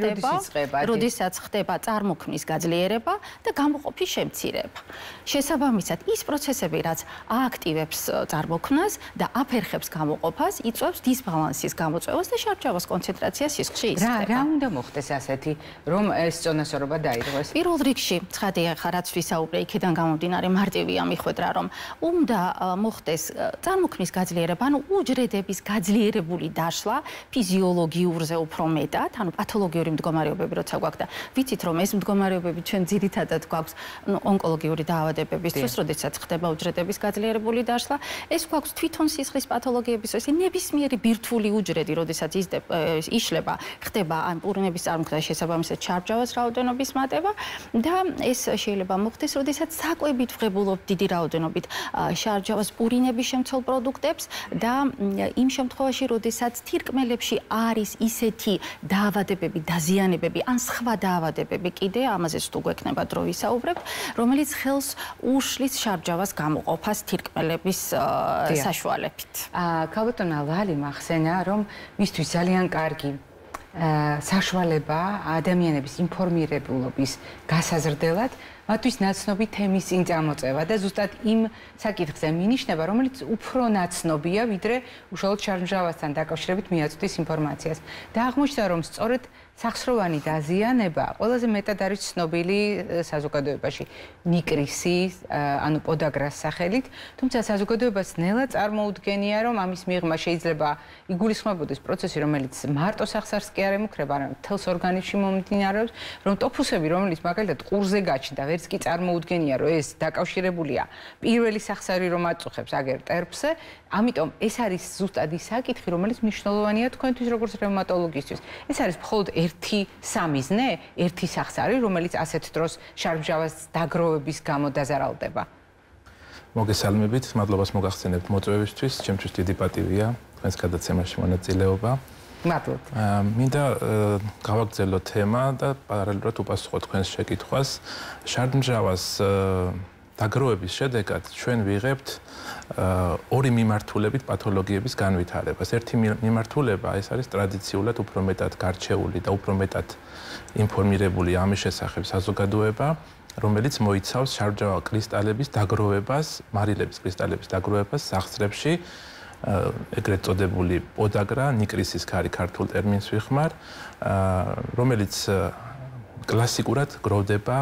როდესაც ხდება წარმოქმნის გაძლიერება და გამოყოფის შემცირება. შესაბამისად, ის პროცესები, რაც ააქტივებს წარმოქმნას და აფერხებს გამოყოფას, იწვევს დისბალანსის გამოწვევას და შარდმჟავას კონცენტრაციას სისხლში იზრდება. რა უნდა მოხდეს ასეთი, რომ ეს წონასწორობა დაირღვეს? პირველ რიგში, ცხადია, რაც ვისაუბრე, იქიდან გამომდინარე მარტივია მიხვედრა, რომ უნდა მოხდეს წარმოქმნის გაძლიერება, ანუ უჯრედების გაძლიერებული დაშლა ფიზიოლოგიურზე უფრო მეტად, ანუ პათოლოგიური მდგომარეობები როცა გვაქვს და ვიცით რომ ეს მდგომარეობები ჩვენ ძირითადად გვაქვს ონკოლოგიური დაავადებების დროს, როდესაც ხდება უჯრედების გაძლიერებული დაშლა, ეს გვაქვს თვითონ სისხლის პათოლოგიების დროს, ნებისმიერი ბირთვული უჯრედი, როდესაც იშლება, ხდება ამ პურინების წარმოქმნა შესაბამისად შარდმჟავას რაოდენობის მატება და ეს შეიძლება მოხდეს, როდესაც საკვებით ვღებულობთ დიდი რაოდენობით შარდმჟავას პურინების შემცველ პროდუქტებს და იმ შემთხვევაში, როდესაც თირკმელებში არის ისეთი დაავადებები, დაზიანებები ან სხვა დაავადებები კიდე, ამაზეც თუ გვექნება დრო ვისაუბრებთ, რომელიც ხელს უშლის შარდმჟავას გამოყოფას თირკმელების საშუალებით. ქალბატონმა ლალი მახსენა, რომ მისთვის ძალიან კარგი საშუალება ადამიანების ინფორმირებულობის გასაზრდელად მათთვის ნაცნობი თემის წინ წამოწევა და ზუსტად იმ საკითხზე მინიშნება, რომელიც უფრო ნაცნობია, ვიდრე უშუალოდ შარდმჟავასთან დაკავშირებით მიაწვდის ინფორმაციას. და აღმოჩნდა, რომ სწორედ სახსროვანი დაზიანება ყველაზე მეტად არის ცნობილი საზოგადოებაში ნიკრისი, ანუ პოდაგრას სახელით, თუმცა საზოგადოებას ნელა წარმოუდგენია, რომ ამის მიღმა შეიძლება იგულისხმებოდეს პროცესი, რომელიც მარტო სახსარს კი არ ემუქრება, არამედ მთელს ორგანიზმში მომდინარეობს, რომ ტოფუსები, რომელიც მაგალითად ყურზე გაჩნდა, ვერც კი წარმოუდგენია, რომ ეს დაკავშირებულია პირველი სახსარი, რომ აწუხებს აგერ ტერფზე, ამიტომ ეს არის ზუსტად ის საკითხი, რომელიც მნიშვნელოვანია თქვენთვის როგორც რევმატოლოგისთვის. ეს არის მხოლოდ ერთი სამიზნე, ერთი სახსარი, რომელიც ასეთ დროს შარდმჟავას დაგროვების გამო დაზარალდება. მოგესალმებით, მადლობას მოგახსენებთ მოწვევისთვის, ჩემთვის დიდი პატივია თქვენს გადაცემაში მონაწილეობა. მადლობთ. მინდა გავაგრძელო თემა და პარალელურად უპასუხო თქვენს შეკითხვას. შარდმჟავას დაგროვების შედეგად ჩვენ ვიღებთ ორი მიმართულებით პათოლოგიების განვითარებას. ერთი მიმართულება ეს არის ტრადიციულად უფრო მეტად გარჩეული და უფრო მეტად ინფორმირებული ამის შესახებ საზოგადოება. რომელიც მოიცავს შარდჟავა კრისტალების დაგროვებას, მარილების კრისტალების დაგროვებას სახსრებში, ეგრეთ წოდებული პოდაგრა, ნიკრისის ქარი ქართულ ტერმინს ვიხმარ, რომელიც კლასიკურად გროვდება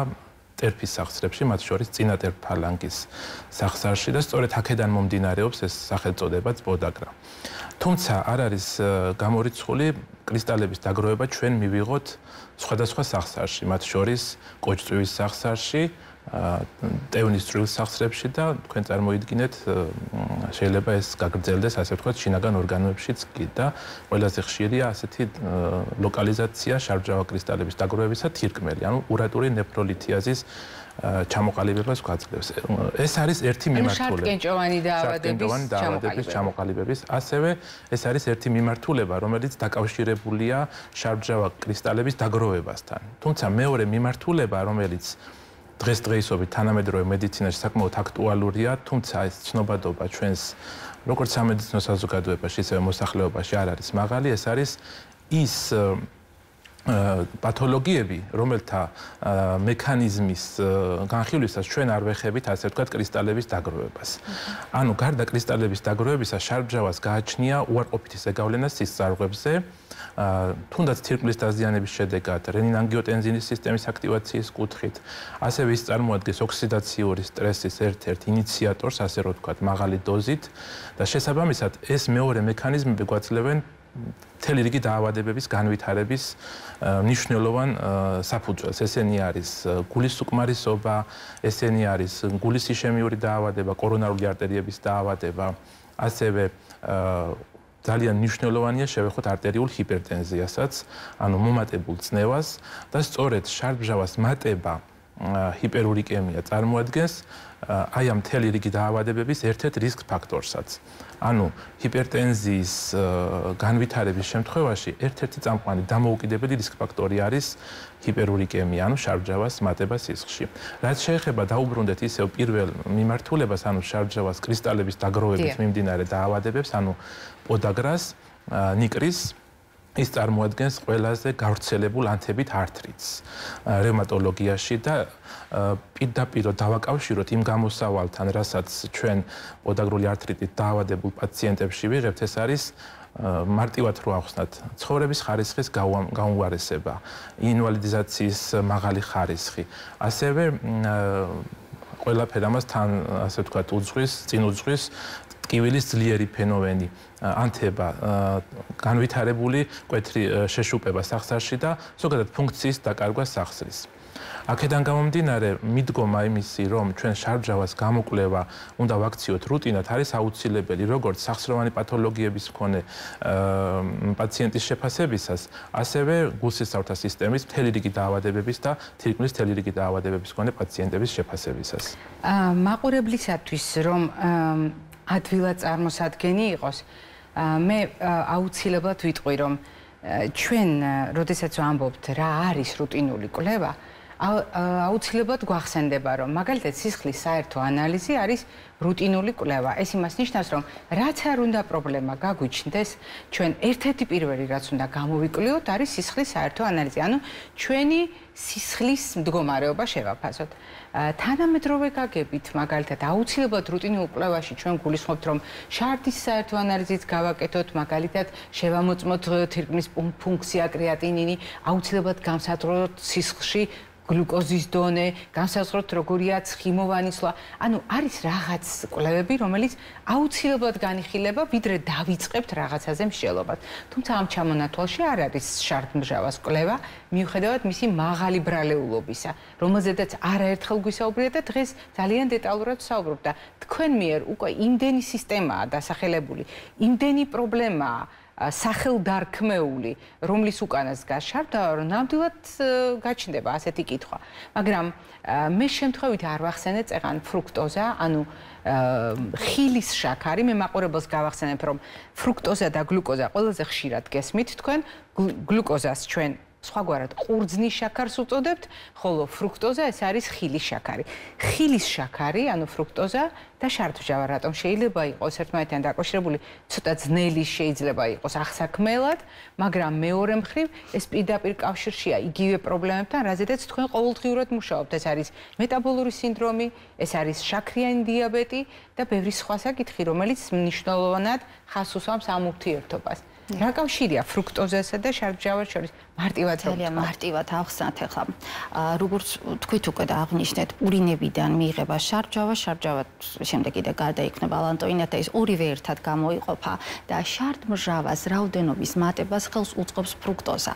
ტერფის სახსრებში, მათ შორის წინატერ ფალანგის სახსარში და სწორედ აქედან მომდინარეობს ეს სახელწოდებაც პოდაგრა. თუმცა არ არის გამორიცხული კრისტალების დაგროვება ჩვენ მივიღოთ სხვადასხვა სახსარში, მათ შორის კოჭწვის სახსარში, ტევნის წვრილ სახსრებში და თქვენ წარმოიდგინეთ შეიძლება ეს გაგრძელდეს ასე ვთქვათ შინაგან ორგანოებშიც კი და ყველაზე ხშირია ასეთი ლოკალიზაცია შარდჟავა კრისტალების დაგროვებისა თირკმელი, ანუ ურატული ნეფროლითიაზის ჩამოყალიბებას გვაძლევს. ეს არის ერთი მიმართულება. შარტკენჭოვანი დაავადების ჩამოყალიბების, ასევე ეს არის ერთი მიმართულება, რომელიც დაკავშირებულია შარდჟავა კრისტალების დაგროვებასთან. თუმცა მეორე მიმართულება, რომელიც დღესდღეობით თანამედროვე მედიცინაში საკმაოდ აქტუალურია, თუმცა ეს ცნობადობა ჩვენს როგორც სამედიცინო საზოგადოებაში, ისევე მოსახლეობაში არ არის მაღალი, ეს არის ის პათოლოგიები, რომელთა მექანიზმის განხილვისას ჩვენ არ ვეხებით, ასე ვთქვათ, კრისტალების დაგროვებას. ანუ გარდა კრისტალების დაგროვებისა, შარდჟავას გააჩნია უარყოფითი ზეგავლენა სისწარღვებზე, თუნდაც თირკმლის დაზიანების შედეგად, რენინ-ანგიოტენზინის სისტემის აქტივაციის კუთხით, ასევე ის წარმოადგენს ოქსიდაციური სტრესის ერთ-ერთ ინიციატორს, ასე რომ ვთქვათ, მაღალი დოზით და შესაბამისად ეს მეორე მექანიზმები გვაძლევენ მთელი რიგი დაავადებების განვითარების მნიშვნელოვან საფუძველს. ესენი არის გულის უკმარისობა, ესენი არის გულის იშემიური დაავადება, კორონარული არტერიების დაავადება, ასევე ძალიან მნიშვნელოვანია შევეხოთ არტერიულ ჰიპერტენზიასაც, ანუ მომატებულ წნევას და სწორედ შარდჟავას მატება ჰიპერურიკემია წარმოადგენს აი ამ მთელი რიგი დაავადებების ერთ-ერთ რისკ ფაქტორსაც. ანუ ჰიპერტენზიის განვითარების შემთხვევაში ერთ-ერთი წამყვანი დამოუკიდებელი რისკ ფაქტორი არის ჰიპერურიკემია, ანუ შარდჟავას მატება სისხლში. რაც შეეხება დაუბრუნდეთ ისევ პირველ მიმართულებას, ანუ შარდჟავას კრისტალების დაგროვებით მიმდინარე დაავადებებს, ანუ პოდაგრას, ნიკრის ის წარმოადგენს ყველაზე გავრცელებულ ანთებით ართრიტს რევმატოლოგიაში და პირდაპირ დავაკავშიროთ იმ გამოსავალთან, რასაც ჩვენ პოდაგრული ართრიტით დაავადებულ პაციენტებში ვიღებთ, ეს არის მარტივად რო ავხსნათ, ცხოვრების ხარისხის გაუმჯობესება, ინვალიდიზაციის მაღალი ხარისხი, ასევე ყველაფერ ამას თან, ასე ვთქვათ, წინ უძღვის ტკივილის ძლიერი ფენომენი, ანთება, განვითარებული მკვეთრი შეშუპება სახსარში და ზოგადად ფუნქციის დაკარგვა სახსრის. აქედან გამომდინარე, მიდგომა იმისი, რომ ჩვენ შარდჟავას გამოკვლევა უნდა ვაქციოთ რუტინად, არის აუცილებელი როგორც სახსროვანი პათოლოგიების მქონე პაციენტის შეფასებისას, ასევე გულსისხლთა სისტემის მთელი რიგი დაავადებების და თირკმლის მთელი რიგი დაავადებების მქონე პაციენტების შეფასებისას. მაყურებლისათვის რომ ადვილად წარმოსადგენი იყოს, მე აუცილებლად ვიტყვი, რომ ჩვენ, როდესაც ვამბობთ, რა არის რუტინული კვლევა, აუცილებლად გვახსენდება, რომ მაგალითად სისხლის საერთო ანალიზი არის რუტინული კვლევა. ეს იმას ნიშნავს, რომ რაც არ უნდა პრობლემა გაგვიჩნდეს, ჩვენ ერთ-ერთი პირველი რაც უნდა გამოვიკვლიოთ, არის სისხლის საერთო ანალიზი. ანუ ჩვენი სისხლის მდგომარეობა შევაფასოთ. თანამედროვე გაგებით, მაგალითად, აუცილებლად რუტინულ კვლევაში ჩვენ გულისხმობთ, რომ შარდის საერთო ანალიზით გავაკეთოთ, მაგალითად, შევამოწმოთ თირკმლის ფუნქცია, კრეატინინი, აუცილებლად გამსაზღვროთ სისხლში გლუკოზის დონე, განსაზღვროთ როგორია ცხიმოვანი სვლა. ანუ არის რაღაც კვლევები, რომელიც აუცილებლად განიხილება, ვიდრე დავიწყებთ რაღაცაზე მსჯელობას. თუმცა ამ ჩამონათვალში არ არის შარდმჟავას კვლევა, მიუხედავად მისი მაღალი ბრალეულობისა, რომელზედაც არაერთხელ გვისაუბრია და დღეს ძალიან დეტალურად ვსაუბრობ და თქვენ მიერ უკვე იმდენი სისტემაა დასახელებული, იმდენი პრობლემაა სახელდარქმეული, რომლის უკანაც დგას შარდავა, რომ ნამდვილად გაჩნდება ასეთი კითხვა. მაგრამ მე შემთხვევით არ ვახსენე წეღან ფრუქტოზა, ანუ ხილის შაქარი, მე მაყურებელს გავახსენებ, რომ ფრუქტოზა და გლუკოზა ყველაზე ხშირად გესმით თქვენ, გლუკოზას ჩვენ სხვაგვარად ყურძნის შაქარს უწოდებთ, ხოლო ფრუქტოზა ეს არის ხილის შაქარი. ხილის შაქარი, ანუ ფრუქტოზა და შარდმჟავა რატომ შეიძლება იყოს ერთმანეთთან დაკავშირებული, ცოტა ძნელი შეიძლება იყოს აღსაქმელად, მაგრამ მეორე მხრივ ეს პირდაპირ კავშირშია იგივე პრობლემებთან, რაზედაც თქვენ ყოველდღიურად მუშაობთ. ეს არის მეტაბოლური სინდრომი, ეს არის შაქრიანი დიაბეტი და ბევრი სხვა საკითხი, რომელიც მნიშვნელოვნად ხაზს უსვამს ამ ურთიერთობას. რა კავშირია ფრუქტოზასა და შარდმჟავას შორის? მარტივად ძალიან მარტივად ახსნათ ახლა. როგორც თქვით უკვე და აღნიშნეთ, ურინებიდან მიიღება შარდმჟავა, შარდმჟავა შემდეგ კიდე გარდაიქმნება ლანტოინა და ეს ორივე ერთად გამოიყოფა და შარდმჟავას რაოდენობის მატებას ხელს უწყობს ფრუქტოზა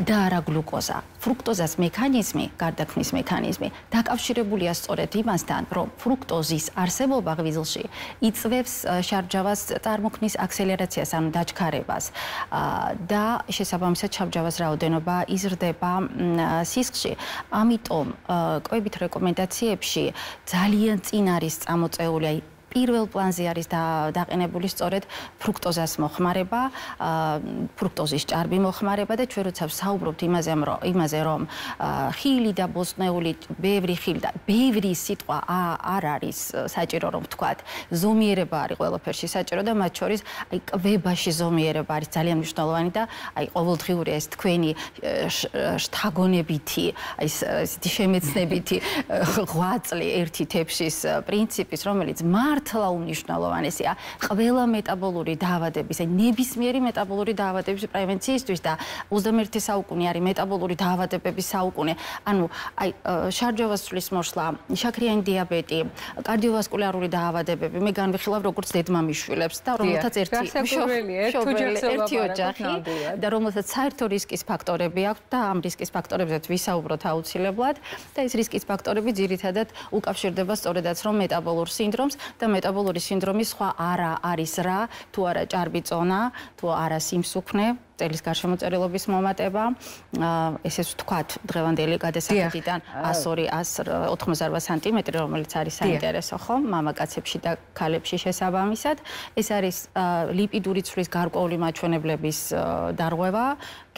და არა გლუკოზა. ფრუქტოზას მექანიზმი, გარდაქმნის მექანიზმი დაკავშირებულია სწორედ იმასთან, რომ ფრუქტოზის არსებობა ღვიძლში იწვევს შარდმჟავას წარმოქმნის აქსელერაციას, ანუ დაჩქარებას და შესაბამისად შარდმჟავას რაოდენობა იზრდება სისხლში. ამიტომ კვებით რეკომენდაციებში ძალიან წინ არის წამოწეული, აი პირველ პლანზე არის დაყენებული სწორედ ფრუქტოზას მოხმარება, ფრუქტოზის ჭარბი მოხმარება და ჩვენ როცა ვსაუბრობთ იმაზე, რომ ხილი და ბოსტნეული, ბევრი ხილი და ბევრი სიტყვა არ არის საჭირო რომ ვთქვათ, ზომიერება არის ყველაფერში საჭირო და მათ შორის აი კვებაში ზომიერება არის ძალიან მნიშვნელოვანი და აი ყოველდღიური ეს თქვენი შთაგონებითი, აი ესეთი შემეცნებითი ღვაწლი ერთი თეფშის პრინციპის, რომელიც მართლა უმნიშვნელოვანესია ყველა მეტაბოლური დაავადების, აი ნებისმიერი მეტაბოლური დაავადების პრევენციისთვის და 21 საუკუნე არის მეტაბოლური დაავადებების საუკუნე. ანუ აი შარდმჟავას ცვლის მოსვლა, შაქრიანი დიაბეტი, კარდიოვასკულარული დაავადებები, მე განვიხილავ როგორც დედმამიშვილებს და რომელთაც ერთი ოჯახი და რომელთაც საერთო რისკის ფაქტორები აქვს და ამ რისკის ფაქტორებზეც ვისაუბროთ აუცილებლად და ეს რისკის ფაქტორები ძირითადად უკავშირდება სწორედაც რომ მეტაბოლურ სინდრომს და მეტაბოლური სინდრომის სხვა არა არის რა, თუ არა ჭარბი წონა, თუ არა სიმსუქნე, წელის გარშემოწერილობის მომატება, ესე ვთქვათ, დღევანდელი გადასახადიდან 102-188 სანტიმეტრი, რომელიც არის საინტერესო, ხო, მამაკაცებში და ქალებში შესაბამისად. ეს არის ლიპიდური ცვლის გარკვეული მაჩვენებლების დარღვევა,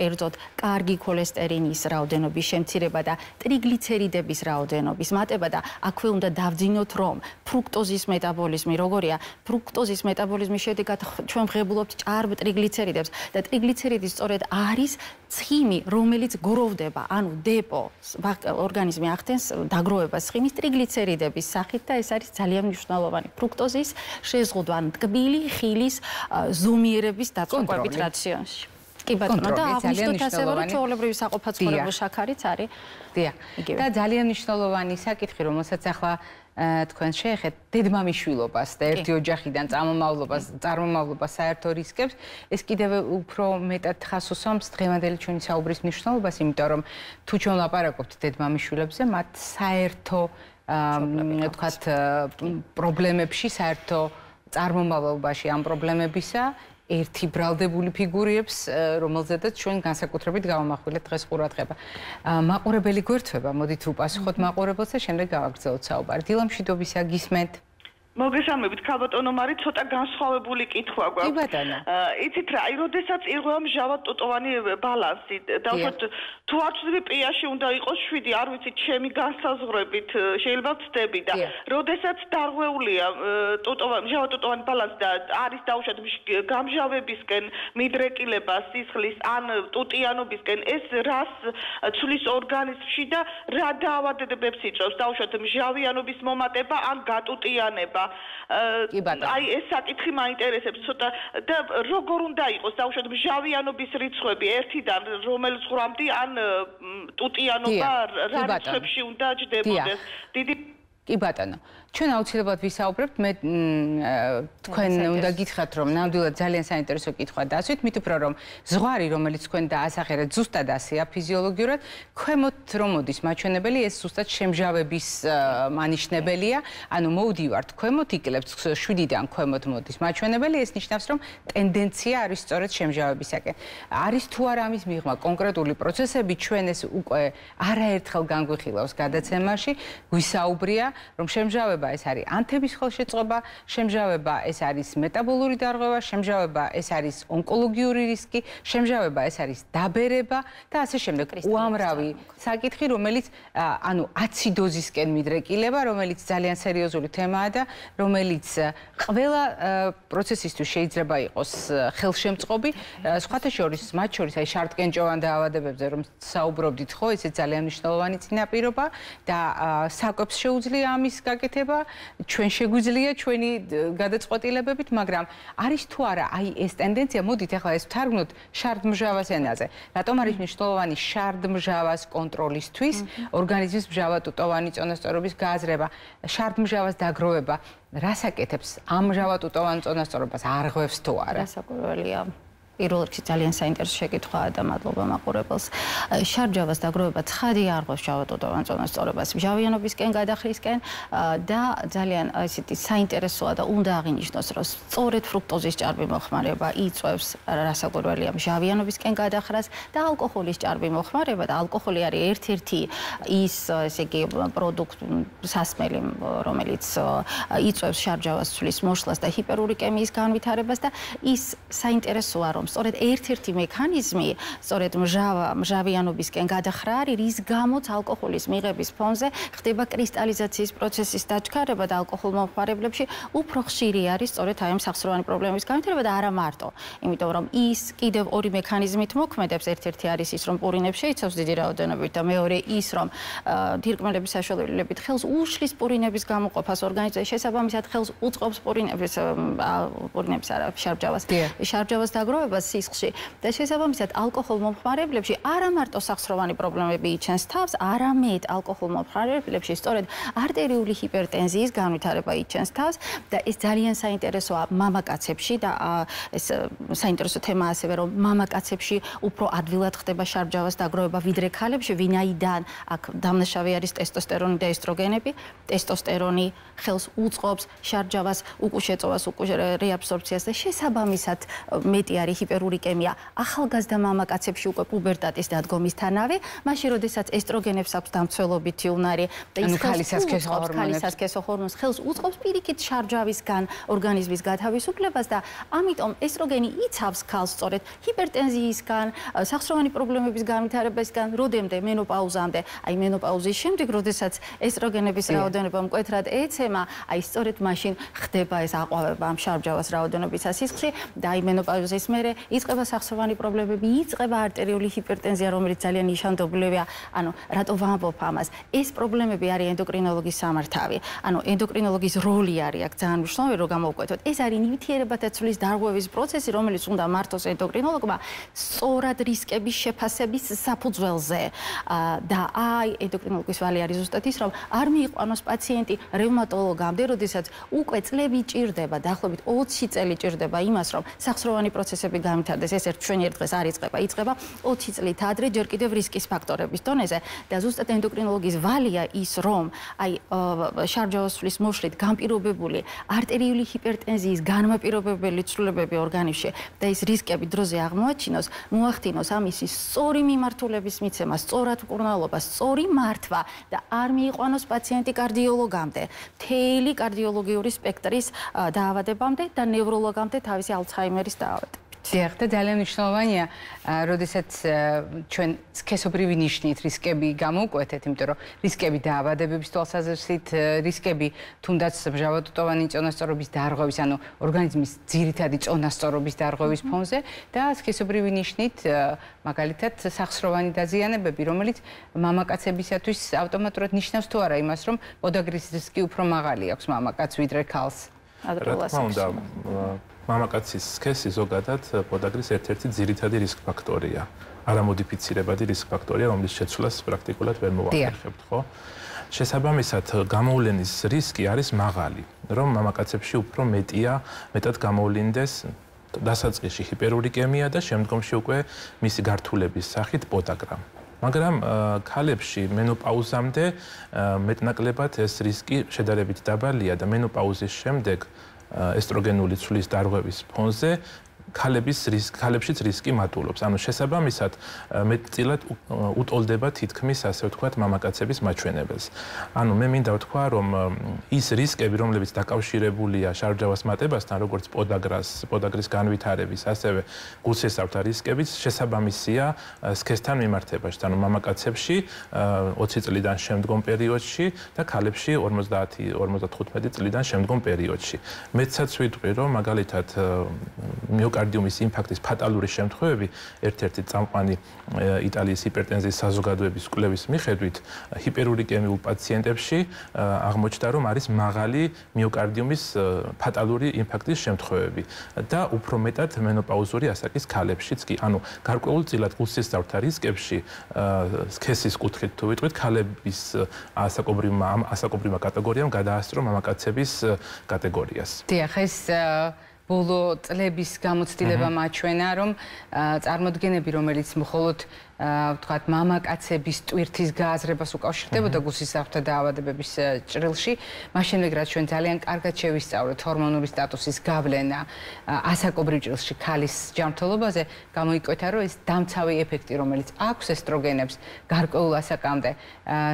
კერძოდ კარგი ქოლესტერინის რაოდენობის შემცირება და ტრიგლიცერიდების რაოდენობის მატება და აქვე უნდა დავძინოთ, რომ ფრუქტოზის მეტაბოლიზმი როგორია, ფრუქტოზის მეტაბოლიზმის შედეგად ჩვენ ვღებულობთ ჭარბ ტრიგლიცერიდებს და ტრიგლიცერიდი სწორედ არის ცხიმი, რომელიც გროვდება, ანუ დეპო, ორგანიზმი ახდენს დაგროვებას ცხიმის ტრიგლიცერიდების სახით და ეს არის ძალიან მნიშვნელოვანი ფრუქტოზის შეზღუდვა, ანუ ტკბილი ხილის ზომიერების დაწყვეტით რაციონში. კი ბატონო, და აღნიშნოთ ასევე, რომ ჩვეულებრივი საყოფაცხოვრებო შაქარიც არის. დიახ. და ძალიან მნიშვნელოვანი საკითხი, რომელსაც ახლა თქვენ შეეხეთ დედმამიშვილობას და ერთი ოჯახიდან წარმომავლობას საერთო რისკებს, ეს კიდევ უფრო მეტად ხაზს უსვამს დღევანდელი ჩვენი საუბრის მნიშვნელობას, იმიტომ რომ თუ ჩვენ ვლაპარაკობთ დედმამიშვილებზე, მათ საერთო ვთქვათ პრობლემებში, საერთო წარმომავლობაში ამ პრობლემებისა ერთი ბრალდებული ფიგურიებს, რომელზედაც ჩვენ განსაკუთრებით გავამახვილეთ დღეს ყურადღება. მაყურებელი გვერდება, მოდით ვუპასუხოთ მაყურებელს და შემდეგ გავაგრძელოთ საუბარი. დილამშვიდობისა, გისმენთ. მოგესალმებით, ქალბატონო მარი, ცოტა განსხვავებული კითხვა გვაქვს. კი ბატონო. იცით რა, როდესაც ირღვევა მჟავა-ტუტოვანი ბალანსი, დავუშვათ თუ არ ვწდები პიაში უნდა იყოს 7, არ ვიცი, ჩემი განსაზღვრებით შეიძლება ვწდები და როდესაც დარღვეულია მჟავა-ტუტოვანი ბალანსი და არის დავუშვათ გამჟავებისკენ მიდრეკილება სისხლის ან ტუტიანობისკენ, ეს რას ცვლის ორგანიზმში და რა დაავადებებს იწვევს, დავუშვათ მჟავიანობის მომატება ან გატუტიანება. აი ეს საკითხი მაინტერესებს ცოტა და როგორ უნდა იყოს დავუშვათ მჟავიანობის რიცხვები ერთიდან რომელ ზღვრამდე ან ტუტიანობა რა რიცხვებში უნდა ჯდებოდეს. დიდი კი ბატონო, ჩვენ აუცილებლად ვისაუბრებთ, მე თქვენ უნდა გითხრათ, რომ ნამდვილად ძალიან საინტერესო კითხვა დასვით, მით უფრო რომ ზღვარი, რომელიც თქვენ დაასახელეთ, ზუსტად ასეა ფიზიოლოგიურად, ქვემოთ რომ მოდის მაჩვენებელი, ეს ზუსტად შემჟავების მანიშნებელია, ანუ მოვდივართ ქვემოთ, იკლებთ 7-დან ქვემოთ მოდის მაჩვენებელი, ეს ნიშნავს, რომ ტენდენცია არის სწორედ შემჟავებისაკენ. არის თუ არა ამის მიღმა კონკრეტული პროცესები, ჩვენ ეს უკვე არაერთხელ განგვიხილავს გადაცემაში, გვისაუბრია, რომ შემჟავება შემჟავება ეს არის ანთების ხელშეწყობა, შემჟავება ეს არის მეტაბოლური დარღვევა, შემჟავება ეს არის ონკოლოგიური რისკი, შემჟავება ეს არის დაბერება და ასე შემდეგ. უამრავი საკითხი, რომელიც ანუ აციდოზისკენ მიდრეკილება, რომელიც ძალიან სერიოზული თემაა და რომელიც ყველა პროცესისთვის შეიძლება იყოს ხელშემწყობი. სხვათა შორის, მათ შორის აი შარტკენჭოვან დაავადებებზე რომ საუბრობდით ხო, ესეც ძალიან მნიშვნელოვანი წინაპირობა და საკვებს შეუძლია ამის გაკეთება, ჩვენ შეგვიძლია ჩვენი გადაწყვეტილებებით, მაგრამ არის თუ არა აი ეს ტენდენცია, მოდით ახლა ეს ვთარგმნოთ შარდმჟავას ენაზე. რატომ არის მნიშვნელოვანი შარდმჟავას კონტროლისთვის, ორგანიზმის მჟავატუტოვანი წონასწორობის გააზრება, შარდმჟავას დაგროვება, რას აკეთებს ამ მჟავატუტოვან წონასწორობას არღვევს თუ არა? გასაკვირველია. პირველ რიგში ძალიან საინტერესო შეკითხვაა და მადლობა მაყურებელს. შარდმჟავას დაგროვება ცხადი არღვევს მჟავატუტოვან წონასწორობას მჟავიანობისკენ გადახრისკენ და ძალიან ესეთი საინტერესოა და უნდა აღინიშნოს, რომ სწორედ ფრუქტოზის ჭარბი მოხმარება იწვევს რასაკვირველია მჟავიანობისკენ გადახრას და ალკოჰოლის ჭარბი მოხმარება და ალკოჰოლი არის ერთ-ერთი ის ესე იგი პროდუქტი სასმელი, რომელიც იწვევს შარდმჟავას ცვლის მოშლას და ჰიპერურიკემიის განვითარებას და ის საინტერესოა რომ სწორედ ერთ-ერთი მექანიზმი, სწორედ მჟავიანობისკენ გადახრა არის, რის გამოც ალკოჰოლის მიღების ფონზე ხდება კრისტალიზაციის პროცესის დაჩქარება და ალკოჰოლ მომხმარებლებში უფრო ხშირი არის სწორედ აი ამ სახსროვანი პრობლემების განვითარება და არა მარტო. იმიტომ რომ ის კიდევ ორი მექანიზმით მოქმედებს, ერთ-ერთი არის ის რომ პურინებს შეიცავს დიდი რაოდენობით და მეორე ის რომ დირკმელების საშუალებით ხელს უშლის პურინების გამოყოფას ორგანიზმში, შესაბამისად ხელს უწყობს პურინების არა შარდმჟავას. შარდმჟავას დაგროვებას სისხლში და შესაბამისად ალკოჰოლ მომხმარებლებში არა მარტო სახსროვანი პრობლემები იჩენს თავს, არამედ ალკოჰოლ მომხმარებლებში სწორედ არტერიული ჰიპერტენზიის განვითარება იჩენს თავს და ეს ძალიან საინტერესოა მამაკაცებში და ეს საინტერესო თემაა ასევე რომ მამაკაცებში უფრო ადვილად ხდება შარდმჟავას დაგროვება ვიდრე ქალებში, ვინაიდან აქ დამნაშავე არის ტესტოსტერონი და ესტროგენები. ტესტოსტერონი ხელს უწყობს შარდმჟავას უკუშეწოვას, რეაბსორბციას და შესაბამისად მეტი არის ჰიპერურიკემია ახალგაზრდა მამაკაცებში უკვე პუბერტატის დადგომისთანავე, მაშინ როდესაც ესტროგენებს აქვს დამცველობითი უნარი და ის ქალისასქესო ჰორმონს ხელს უწყობს პირიქით შარდმჟავისგან ორგანიზმის გათავისუფლებას და ამიტომ ესტროგენი იცავს ქალს სწორედ ჰიპერტენზიისგან, სახსროვანი პრობლემების განვითარებისგან, როდემდე მენოპაუზამდე, აი მენოპაუზის შემდეგ, როდესაც ესტროგენების რაოდენობა მკვეთრად ეცემა, აი სწორედ მაშინ ხდება ეს აყვავება ამ შარდმჟავას რაოდენობისა სისხლში და აი მენოპაუზის მერე იწყება სახსროვანი პრობლემები, იწყება არტერიული ჰიპერტენზია, რომელიც ძალიან ნიშანდობლივია. ანუ რატო ვამბობ ამას? ეს პრობლემები არის ენდოკრინოლოგის სამართავი. ანუ ენდოკრინოლოგის როლი არის აქ ძალიან მნიშვნელოვანი, რომ გამოვკვეთოთ. ეს არის ნივთიერებათა ცვლის დარღვევის პროცესი, რომელიც უნდა მართოს ენდოკრინოლოგმა სწორად რისკების შეფასების საფუძველზე. და აი ენდოკრინოლოგის ვალი არის ზუსტად ის, რომ არ მიიყვანოს პაციენტი რევმატოლოგამდე, როდესაც უკვე წლები ჭირდება, დაახლოებით 20 წელი ჭირდება იმას, რომ სახსროვანი პროცესები განვითარდეს. ეს ერთ დღეს არ იწყება 20 წლით ადრე, ჯერ კიდევ რისკის ფაქტორების დონეზე და ზუსტად ენდოკრინოლოგის ვალია ის, რომ აი შარდმჟავას ცვლის მოშლით განპირობებული არტერიული ჰიპერტენზიის განმაპირობებელი ცვლილებები ორგანიზმში და ეს რისკები დროზე აღმოაჩინოს, მოახდინოს ამისი სწორი მიმართულების მიცემა, სწორად მკურნალობა, სწორი მართვა და არ მიიყვანოს პაციენტი კარდიოლოგამდე, მთელი კარდიოლოგიური სპექტრის დაავადებამდე და ნევროლოგამდე თავისი ალცჰაიმერის დაავადება. დიახ, და ძალიან მნიშვნელოვანია, როდესაც ჩვენ სქესობრივი ნიშნით რისკები გამოვკვეთეთ, იმიტომ რომ რისკები დაავადებების თვალსაზრისით, რისკები თუნდაც მჟავატუტოვანი წონასწორობის დარღვევის, ანუ ორგანიზმის ძირითადი წონასწორობის დარღვევის ფონზე და სქესობრივი ნიშნით, მაგალითად, სახსროვანი დაზიანებები, რომელიც მამაკაცებისათვის ავტომატურად ნიშნავს თუ არა იმას, რომ პოდაგრის რისკი უფრო მაღალი აქვს მამაკაცს ვიდრე ქალს. მამაკაცის სქესი ზოგადად პოდაგრის ერთ-ერთი ძირითადი რისკ ფაქტორია. არამოდიფიცირებადი რისკ ფაქტორია, რომლის შეცვლას პრაქტიკულად ვერ მოვახერხებთ, ხო? შესაბამისად, გამოვლენის რისკი არის მაღალი, რომ მამაკაცებში უფრო მეტად გამოვლინდეს დასაწყისში ჰიპერურიკემია და შემდგომში უკვე მისი გართულების სახით პოდაგრა. მაგრამ ქალებში მენოპაუზამდე მეტნაკლებად ეს რისკი შედარებით დაბალია და მენოპაუზის შემდეგ ესტროგენული ცვლის დარღვევის ფონზე ქალებშიც რისკი მატულობს. ანუ შესაბამისად მეტწილად უტოლდება თითქმის ასე ვთქვათ მამაკაცების მაჩვენებელს. ანუ მე მინდა ვთქვა, რომ ის რისკები, რომლებიც დაკავშირებულია შარდჟავას მატებასთან, როგორც პოდაგრის განვითარების, ასევე გულსესავთა რისკებიც შესაბამისია სქესთან მიმართებაში. ანუ მამაკაცებში 20 წლიდან შემდგომ პერიოდში და ქალებში 50-55 წლიდან შემდგომ პერიოდში. მეცაც ვიტყვი, რომ მაგალითად მიოკარდიუმის ინფარქტის ფატალური შემთხვევები ერთ-ერთი წამყვანი იტალიის ჰიპერტენზიის საზოგადოების კვლევის მიხედვით ჰიპერურიკემიულ პაციენტებში აღმოჩნდა, რომ არის მაღალი მიოკარდიუმის ფატალური ინფარქტის შემთხვევები და უფრო მეტად მენოპაუზური ასაკის ქალებშიც კი. ანუ გარკვეულწილად გულსესავთა რისკებში სქესის კუთხით თუ ვიტყვით, ქალების ასაკობრივმა კატეგორიამ გადაასწრო მამაკაცების კატეგორიას. დიახ, ეს ბოლო წლების გამოცდილება მაჩვენა, რომ წარმოდგენები, რომელიც მხოლოდ ვთქვათ, მამაკაცების ტვირთის გააზრებას უკავშირდებოდა გულსისავთა დაავადებების ჭრილში, მას შემდეგ რაც ჩვენ ძალიან კარგად შევისწავლეთ ჰორმონული სტატუსის გავლენა ასაკობრივ ჭრილში ქალის ჯანმრთელობაზე, გამოიკვეთა, რომ ეს დამცავი ეფექტი, რომელიც აქვს ესტროგენებს გარკვეულ ასაკამდე,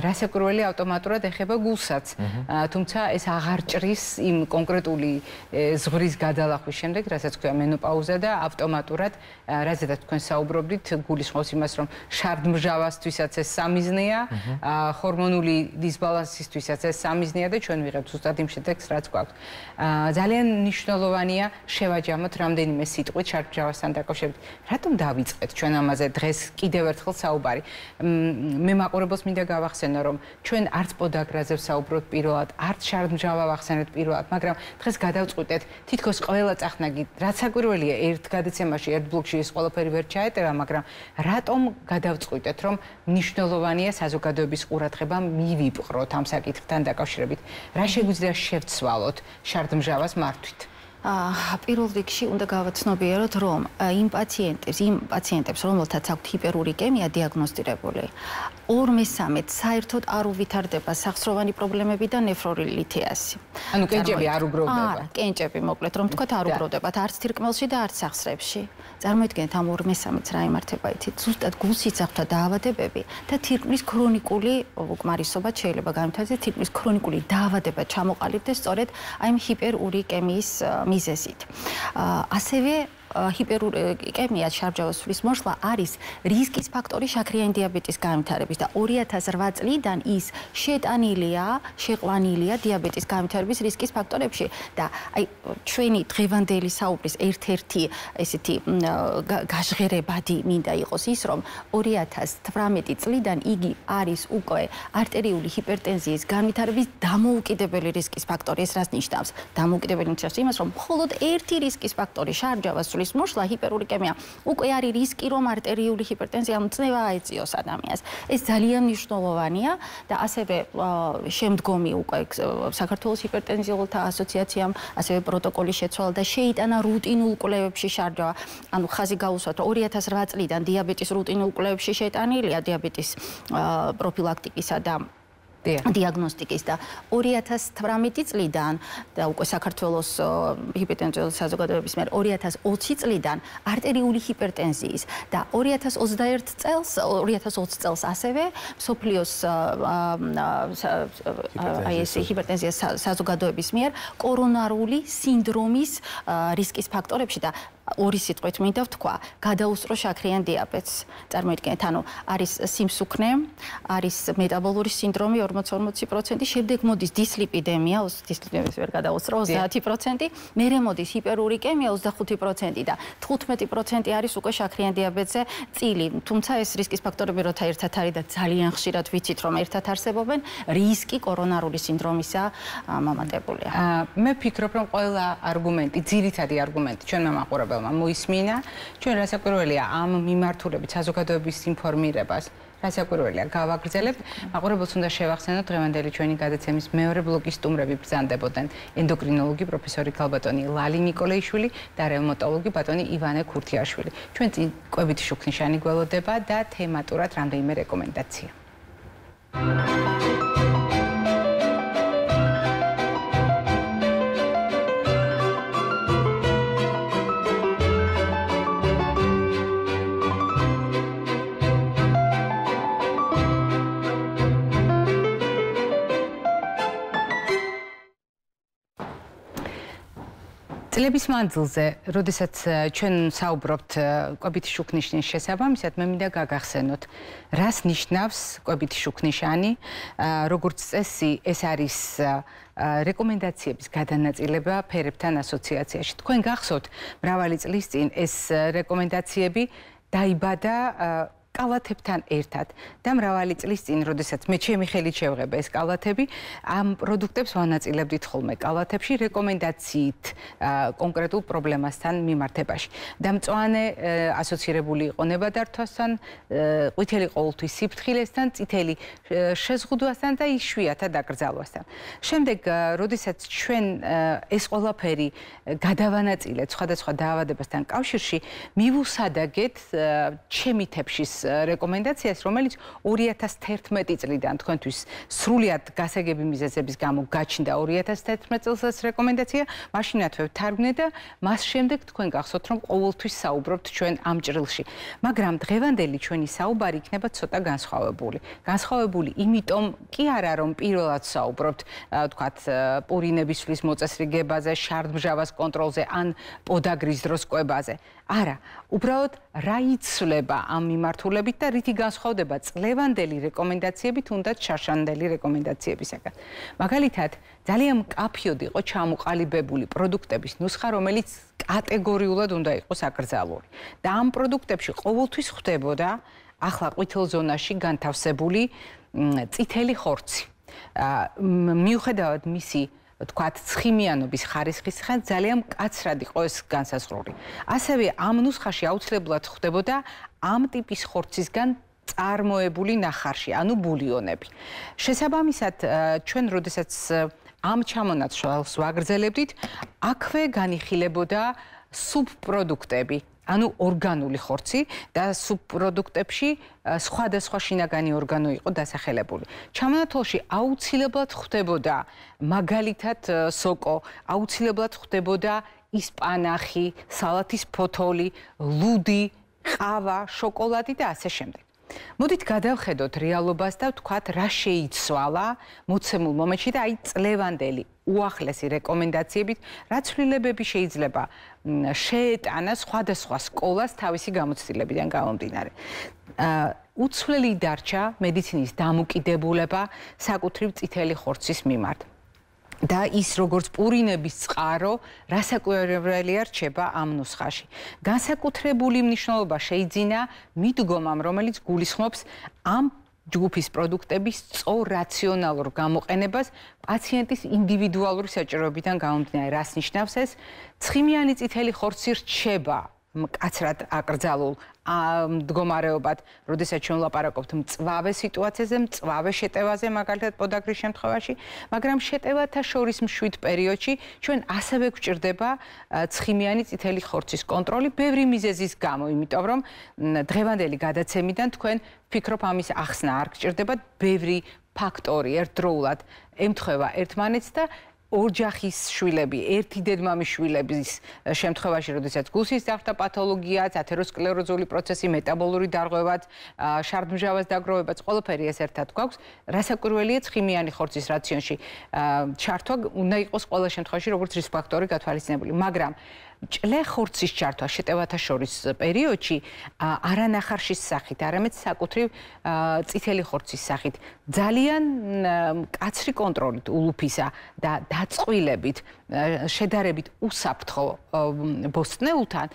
რასაკვირველი ავტომატურად ეხება გულსაც. თუმცა ეს აღარ ჭრის იმ კონკრეტული ზღვრის გადალახვის შემდეგ, რასაც ქვია მენოპაუზა და ავტომატურად, რაზედაც თქვენ საუბრობდით, გულისხმობს იმას, რომ შარდმჟავასთვისაც ეს სამიზნეა, ჰორმონული დისბალანსისთვისაც ეს სამიზნეა და ჩვენ ვიღებთ ზუსტად იმ შედეგს, რაც გვაქვს. ძალიან მნიშვნელოვანია შევაჯამოთ რამდენიმე სიტყვით შარდმჟავასთან დაკავშირებით. რატომ დავიწყეთ ჩვენ ამაზე დღეს კიდევ ერთხელ საუბარი? მე მაყურებელს მინდა გავახსენო, რომ ჩვენ არც პოდაგრაზე ვსაუბრობთ პირველად, არც შარდმჟავა ვახსენეთ პირველად, მაგრამ დღეს გადავწყვიტეთ თითქოს ყველა წახნაგი, რაც საკვირველია ერთ გადაცემაში, ერთ ბლოკში ეს ყველაფერი ვერ ჩაეტევა, მაგრამ რატომ გადავწყვიტეთ, რომ მნიშვნელოვანია საზოგადოების ყურადღება მივიპყროთ ამ საკითხთან დაკავშირებით. რა შეგვიძლია შევცვალოთ შარდმჟავას მართვით? პირველ რიგში უნდა გავაცნობიეროთ, რომ იმ პაციენტებს, რომელთაც აქვთ ჰიპერურიკემია დიაგნოსტირებული, 2/3 საერთოდ არ უვითარდება სახსროვანი პრობლემები და ნეფროლითიაზი. ანუ კენჭები არ უგროვდება. კენჭები მოკლედ რომ თქვათ არ უგროვდებათ არც თირკმელში და არც სახსრებში. წარმოიდგინეთ ამ 2/3-ს რა იმართება იცით? ზუსტად გულსისავთა დაავადებები და თირკმლის ქრონიკული უკმარისობა შეიძლება განვითარდეს, თირკმლის ქრონიკული დაავადება ჩამოყალიბდეს სწორედ აი ამ ჰიპერურიკემიის მიზეზით. ასევე ჰიპერურიკემია შარდმჟავას მოსვლა არის რისკის ფაქტორი შაქრიანი დიაბეტის განვითარების და 2008 წლიდან ის შეტანილია, შეყვანილია დიაბეტის განვითარების რისკის ფაქტორებში და აი ჩვენი დღევანდელი საუბრის ერთ-ერთი ესეთი გაჟღერებადი მინდა იყოს ის, რომ 2018 წლიდან იგი არის უკვე არტერიული ჰიპერტენზიის განვითარების დამოუკიდებელი რისკის ფაქტორი. ეს რას ნიშნავს? დამოუკიდებელი ნიშნავს იმას, რომ მხოლოდ ერთი რისკის ფაქტორი შარდმჟავას მოსვლა ჰიპერურიკემია უკვე არის რისკი, რომ არტერიული ჰიპერტენზია მწნევა აეწიოს ადამიანს. ეს ძალიან მნიშვნელოვანია და ასევე შემდგომი უკვე საქართველოს ჰიპერტენზიოლოგთა ასოციაციამ ასევე პროტოკოლის შეცვალა და შეიტანა რუტინულ კვლევებში შარდმჟავა. ანუ ხაზი გაუსვათ, 2008 წლიდან დიაბეტის რუტინულ კვლევებში შეტანილია დიაბეტის პროფილაქტიკისა და დიაგნოსტიკის და 2018 წლიდან და უკვე საქართველოს ჰიპერტენზიის საზოგადოების მიერ 2020 წლიდან არტერიული ჰიპერტენზიის და 2020 წელს ასევე მსოფლიოს ჰიპერტენზიის საზოგადოების მიერ კორონარული სინდრომის რისკის ფაქტორებში და ორი სიტყვით მინდა ვთქვა, გადაუსწრო შაქრიან დიაბეტს. წარმოიდგინეთ, ანუ არის სიმსუქნე, არის მეტაბოლური სინდრომი 40-40%, შემდეგ მოდის დისლიპიდემია, დისლიპიდემიას ვერ გადაუსწრო 30%, მერე მოდის ჰიპერურიკემია 25% და 15% არის უკვე შაქრიან დიაბეტზე წილი. თუმცა ეს რისკის ფაქტორები როცა ერთად არის და ძალიან ხშირად ვიცით, რომ ერთად არსებობენ, რისკი კორონარული სინდრომისა მომატებულია. მე ვფიქრობ, რომ ყველა არგუმენტი, ძირითადი არგუმენტი ჩვენმა მაყურებელმა მოისმინა. ჩვენ რასაკვირველია ამ მიმართულებით საზოგადოების ინფორმირებას რასაკვირველია გავაგრძელებთ. მაყურებელს უნდა შევახსენოთ, დღევანდელი ჩვენი გადაცემის მეორე ბლოკის სტუმრები ბრძანდებოდნენ ენდოკრინოლოგი პროფესორი ქალბატონი ლალი ნიკოლეიშვილი და რევმატოლოგი ბატონი ივანე ქურთიაშვილი. ჩვენ წინ კვებითი შუქნიშანი გველოდება და თემატურად რამდენიმე რეკომენდაცია. წლების მანძილზე, როდესაც ჩვენ საუბრობთ კვებითი შუქნიშნის შესაბამისად, მე მინდა გაგახსენოთ, რას ნიშნავს კვებითი შუქნიშანი, როგორც წესი, ეს არის რეკომენდაციების გადანაწილება ფერებთან ასოციაციაში. თქვენ გახსოვთ, მრავალი წლის წინ ეს რეკომენდაციები დაიბადა კალათებთან ერთად და მრავალი წლის წინ, როდესაც მე ჩემი ხელით შევღება ეს კალათები, ამ პროდუქტებს ვანაწილებდით ხოლმე კალათებში რეკომენდაციით კონკრეტულ პრობლემასთან მიმართებაში. და მწვანე ასოცირებული იყო ნებადართვასთან, ყვითელი ყოველთვის სიფრთხილესთან, წითელი შეზღუდვასთან და იშვიათად აკრძალვასთან. შემდეგ, როდესაც ჩვენ ეს ყველაფერი გადავანაწილეთ სხვადასხვა დაავადებასთან კავშირში, მივუსადაგეთ ჩემი თეფშის რეკომენდაციას, რომელიც 2011 წლიდან თქვენთვის სრულად გასაგები მიზეზების გამო გაჩნდა 2011 წელს რეკომენდაცია, მაშინაც ვთარგმნე და მას შემდეგ თქვენ გახსოვთ, რომ ყოველთვის საუბრობთ ჩვენ ამ ჭრილში. მაგრამ დღევანდელი ჩვენი საუბარი იქნება ცოტა განსხვავებული. განსხვავებული იმიტომ კი არა, რომ პირველად საუბრობთ, თქვათ, პურინებისთვის მოწესრიგებაზე, შარდმჟავას კონტროლზე ან პოდაგრის დროს კვებაზე. არა, უბრალოდ რა იცვლება ამ მიმართულებით და რითი განსხვავდება წლევანდელი რეკომენდაციებით, თუნდაც შარშანდელი რეკომენდაციებისაგან. მაგალითად, ძალიან მკაფიოდ იყო ჩამოყალიბებული პროდუქტების ნუსხა, რომელიც კატეგორიულად უნდა იყოს აკრძალული. და ამ პროდუქტებში ყოველთვის ხდებოდა ახლა ყვითელ ზონაში განთავსებული წითელი ხორცი. მიუხედავად მისი თქვათ ცხიმიანობის ხარისხისგან ძალიან მკაცრად იყო ეს განსაზღვრული. ასევე ამ ნუსხაში აუცილებლად ხდებოდა ამ ტიპის ხორცისგან წარმოებული ნახარში, ანუ ბულიონები. შესაბამისად, ჩვენ როდესაც ამ ჩამონაცვალს ვაგრძელებდით, აქვე განიხილებოდა სუბპროდუქტები. ანუ ორგანული ხორცი და სუბპროდუქტებში სხვადასხვა შინაგანი ორგანო იყო დასახელებული. ჩამონათვალში აუცილებლად ხდებოდა მაგალითად სოკო, აუცილებლად ხდებოდა ისპანახი, სალათის ფოთოლი, ლუდი, ყავა, შოკოლადი და ასე შემდეგ. მოდით გადავხედოთ რეალობას და ვთქვათ, რა შეიცვალა მოცემულ მომენტში და აი წლევანდელი უახლესი რეკომენდაციებით, რა ცვლილებები შეიძლება შეეტანა სხვადასხვა სკოლას თავისი გამოცდილებიდან გამომდინარე. უცვლელი დარჩა მედიცინის დამოკიდებულება საკუთრივ წითელი ხორცის მიმართ. და ის როგორც პურინების წყარო რასაკვირველია რჩება ამ ნუსხაში. განსაკუთრებული მნიშვნელობა შეიძინა მიდგომამ, რომელიც გულისხმობს ამ ჯგუფის პროდუქტების სწორ რაციონალურ გამოყენებას პაციენტის ინდივიდუალური საჭიროებიდან გამომდინარე. რას ნიშნავს ეს? ცხიმიანი წითელი ხორცი რჩება მკაცრად აკრძალულ მდგომარეობად, როდესაც ჩვენ ვლაპარაკობთ მწვავე სიტუაციაზე, მწვავე შეტევაზე, მაგალითად პოდაგრის შემთხვევაში, მაგრამ შეტევათა შორის მშვიდ პერიოდში ჩვენ ასევე გვჭირდება ცხიმიანი წითელი ხორცის კონტროლი ბევრი მიზეზის გამო, იმიტომ რომ დღევანდელი გადაცემიდან თქვენ ვფიქრობ ამის ახსნა არ გჭირდებათ, ბევრი ფაქტორი ერთდროულად ემთხვევა ერთმანეთს და ოჯახის შვილები, ერთი დედმამის შვილების შემთხვევაში, როდესაც გულსის დახთა პათოლოგიაც, ათეროსკლეროზული პროცესი, მეტაბოლური დარღვევაც, შარდმჟავას დაგროვებაც, ყველაფერი ეს ერთად გვაქვს. რასაკვირველია, ცხიმიანი ხორცის რაციონში ჩართვა უნდა იყოს ყველა შემთხვევაში როგორც რისკ ფაქტორი გათვალისწინებული, მაგრამ ჭლე ხორცის ჩართვა შეტევათა შორის პერიოდში არა ნახარშის სახით, არამედ საკუთრივ წითელი ხორცის სახით ძალიან მკაცრი კონტროლით ულუფისა და დაწყვილებით შედარებით უსაფრთხო ბოსტნეულთან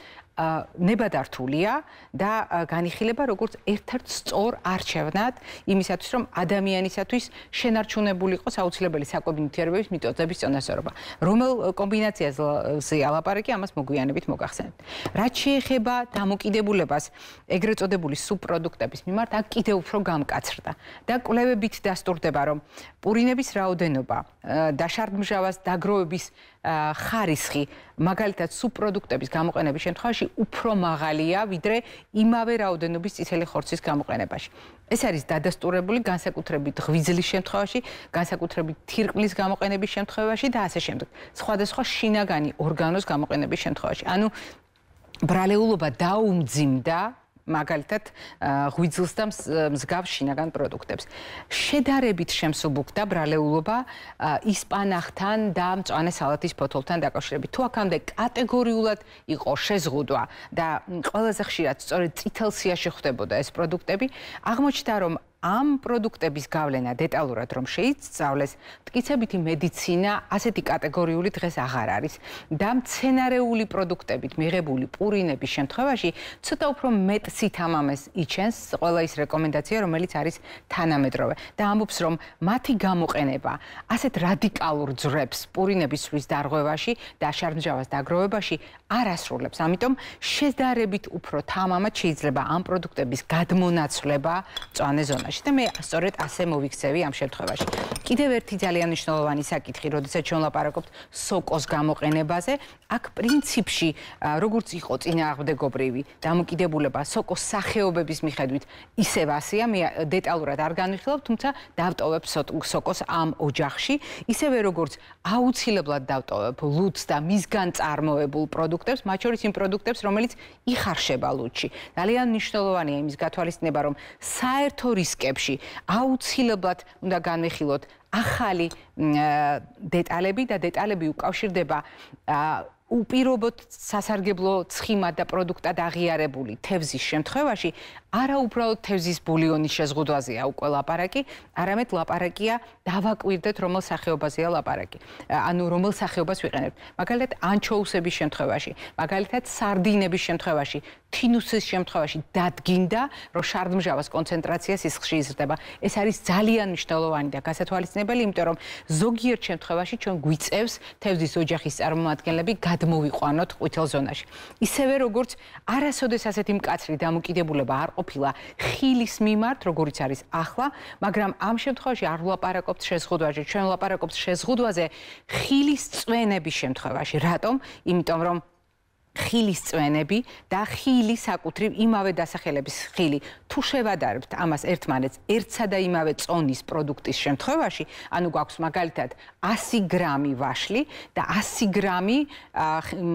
ნებადართულია და განიხილება როგორც ერთ-ერთ სწორ არჩევნად იმისათვის, რომ ადამიანისათვის შენარჩუნებული იყოს აუცილებელი საკვები ნივთიერებების მიტოზების წონასწორობა. რომელ კომბინაციაზე ალაპარაკი, ამას მოგვიანებით მოგახსენებთ. რაც შეეხება დამოკიდებულებას ეგრეთ წოდებული სუბპროდუქტების მიმართ, აქ კიდევ უფრო გამკაცრდა და კვლევებით დასტურდება, რომ პურინების რაოდენობა და შარდმჟავას დაგროვების ხარისხი, მაგალითად სუბპროდუქტების გამოყენების შემთხვევაში უფრო მაღალია, ვიდრე იმავე რაოდენობის წითელი ხორცის გამოყენებაში. ეს არის დადასტურებული განსაკუთრებით ღვიძლის შემთხვევაში, განსაკუთრებით თირკმლის გამოყენების შემთხვევაში და ასე შემდეგ. სხვადასხვა შინაგანი ორგანოს გამოყენების შემთხვევაში. ანუ ბრალეულობა დაუმძიმდა მაგალითად ღვიძლს და მსგავს შინაგან პროდუქტებს. შედარებით შემსუბუქდა ბრალეულობა ისპანახთან და მწვანე სალათის ფოთოლთან დაკავშირებით. თუ აქამდე კატეგორიულად იყო შეზღუდვა და ყველაზე ხშირად სწორედ წითელ სიაში ხდებოდა ეს პროდუქტები, აღმოჩნდა რომ ამ პროდუქტების გავლენა დეტალურად რომ შეისწავლეს, მტკიცებითი მედიცინა ასეთი კატეგორიული დღეს აღარ არის და მცენარეული პროდუქტებით მიღებული პურინების შემთხვევაში ცოტა უფრო მეტ სითამამეს იჩენს ყველა ის რეკომენდაცია, რომელიც არის თანამედროვე და ამბობს, რომ მათი გამოყენება ასეთ რადიკალურ ძვრებს პურინების სვლის დარღვევაში და შარდმჟავას დაგროვებაში არ ასრულებს. ამიტომ შედარებით უფრო თამამად შეიძლება ამ პროდუქტების გადმონაცვლება მწვანე ზონაში. და მე სწორედ ასე მოვიქცევი ამ შემთხვევაში. კიდევ ერთი ძალიან მნიშვნელოვანი საკითხი, როდესაც ჩვენ ლაპარაკობთ სოკოს გამოყენებაზე, აქ პრინციპში როგორც იყო წინააღმდეგობრივი დამოკიდებულება სოკოს სახეობების მიხედვით ისევ ასეა, მე დეტალურად არ განვიხილავ, თუმცა დავტოვებ სოკოს ამ ოჯახში, ისევე როგორც აუცილებლად დავტოვებ ლუდს და მისგან წარმოებულ პროდუქტებს, მათ შორის იმ პროდუქტებს, რომელიც იხარშება ლუდში. ძალიან მნიშვნელოვანია იმის გათვალისწინება, რომ საერთო რისკებში აუცილებლად უნდა განვიხილოთ ახალი დეტალები და დეტალები უკავშირდება უპირობოდ სასარგებლო ცხიმად და პროდუქტად აღიარებული თევზის შემთხვევაში არა უბრალოდ თევზის ბულიონის შეზღუდვაზეა უკვე ლაპარაკი, არამედ ლაპარაკია დავაკვირდეთ რომელ სახეობაზეა ლაპარაკი. ანუ რომელ სახეობას ვიყენებთ. მაგალითად ანჩოუსების შემთხვევაში, მაგალითად სარდინების შემთხვევაში, თინუსის შემთხვევაში დადგინდა, რომ შარდმჟავას კონცენტრაცია სისხლში იზრდება. ეს არის ძალიან მნიშვნელოვანი და გასათვალისწინებელი, იმიტომ რომ ზოგიერთ შემთხვევაში ჩვენ გვიწევს თევზის ოჯახის წარმომადგენლები გადმოვიყვანოთ ყვითელ ზონაში. ისევე როგორც არასოდეს ასეთი მკაცრი დამოკიდებულება არ ყოფილა ხილის მიმართ, როგორიც არის ახლა, მაგრამ ამ შემთხვევაში არ ვლაპარაკობთ შეზღუდვაზე, ჩვენ ვლაპარაკობთ შეზღუდვაზე ხილის წვენების შემთხვევაში. რატომ? იმიტომ რომ ხილის წვენები და ხილი საკუთრივ იმავე დასახელების ხილი თუ შევადარებთ ამას ერთმანეთს ერთსა და იმავე წონის პროდუქტის შემთხვევაში, ანუ გვაქვს მაგალითად 100 გრამი ვაშლი და 100 გრამი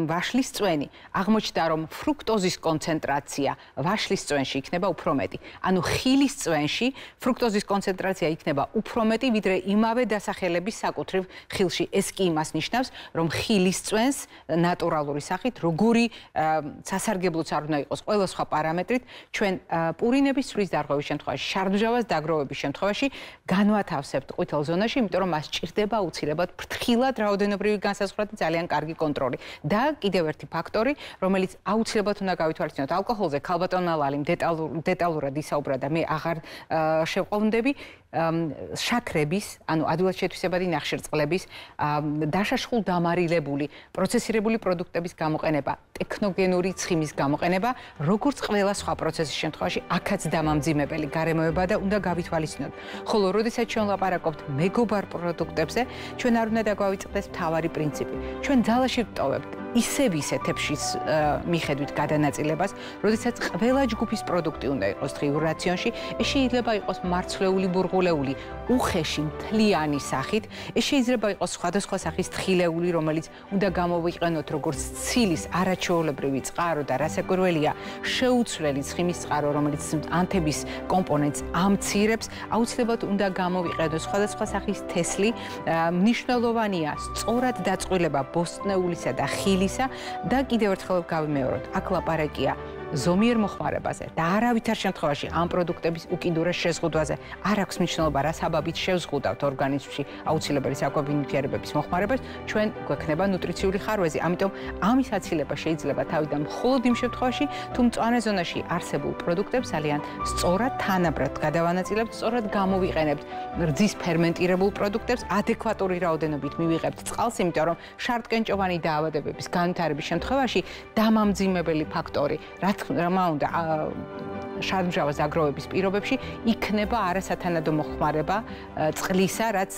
ვაშლის წვენი. აღმოჩნდა რომ ფრუქტოზის კონცენტრაცია ვაშლის წვენში იქნება უფრო მეტი. ანუ ხილის წვენში ფრუქტოზის კონცენტრაცია იქნება უფრო მეტი, ვიდრე იმავე დასახელების საკუთრივ ხილში. ეს კი იმას ნიშნავს, რომ ხილის წვენს ნატურალური სახით როგორი სასარგებლოც არ უნდა იყოს ყველა სხვა პარამეტრით, ჩვენ პურინების სვლის დარღვევის შემთხვევაში, შარდმჟავას დაგროვების შემთხვევაში განვათავსებთ ყვითელ ზონაში, იმიტომ რომ მას სჭირდება აუცილებლად ფრთხილად რაოდენობრივი განსაზღვრა და ძალიან კარგი კონტროლი. და კიდევ ერთი ფაქტორი, რომელიც აუცილებლად უნდა გავითვალისწინოთ ალკოჰოლზე, ქალბატონმა ლალიმ დეტალურად ისაუბრა და მე აღარ შევყოვდები, შაქრების, ანუ ადვილად შეთვისებადი ნახშირწყლების, დაშაშხულ დამარილებული, პროცესირებული პროდუქტების გამოყენება, ტექნოგენური ცხიმის გამოყენება, როგორც ყველა სხვა პროცესის შემთხვევაში, აქაც დამამძიმებელი გარემოება და უნდა გავითვალისწინოთ. ხოლო როდესაც ჩვენ ლაპარაკობთ მეგობარ პროდუქტებზე, ჩვენ არ უნდა დაგვავიწყდეს მთავარი პრინციპი. ჩვენ ძალაში ვტოვებთ ისევ თეფშის მიხედვით გადანაწილებას, როდესაც ყველა ჯგუფის პროდუქტი უნდა იყოს დღიურ რაციონში, ეს შეიძლება იყოს მარცვლეული ბურღულეული, უხეში მთლიანი სახით, ეს შეიძლება იყოს სხვადასხვა სახის თხილეული, რომელიც უნდა გამოვიყენოთ როგორც ცილის არაჩვეულებრივი წყარო და რასაკვირველია, შეუცვლელი ცხიმის წყარო, რომელიც ანთების კომპონენტს ამცირებს, აუცილებლად უნდა გამოვიყენოთ სხვადასხვა სახის თესლი, მნიშვნელოვანია სწორად დაწყვილება ბოსტნეულისა და ხილისა და კიდევ ერთხელ გავიმეოროთ, აქ ლაპარაკია ზომიერ მოხმარებაზე და არავითარ შემთხვევაში ამ პროდუქტების უკიდურეს შეზღუდვაზე არ აქვს მნიშვნელობა რა საბაბით შევზღუდავთ ორგანიზმში აუცილებელი საკვები ნივთიერებების მოხმარებას, ჩვენ გვექნება ნუტრიციული ხარვეზი. ამიტომ ამის აცილება შეიძლება თავიდან მხოლოდ იმ შემთხვევაში, თუ მწვანე ზონაში არსებულ პროდუქტებს ძალიან სწორად თანაბრად გადავანაწილებთ, სწორად გამოვიყენებთ რძის ფერმენტირებულ პროდუქტებს, ადეკვატური რაოდენობით მივიღებთ წყალს, იმიტომ რომ შარტკენჭოვანი დაავადებების განვითარების შემთხვევაში დამამძიმებელი ფაქტორი, რა თქმა უნდა, შარდმჟავას აგროვების პირობებში იქნება არასათანადო მოხმარება წყლისა, რაც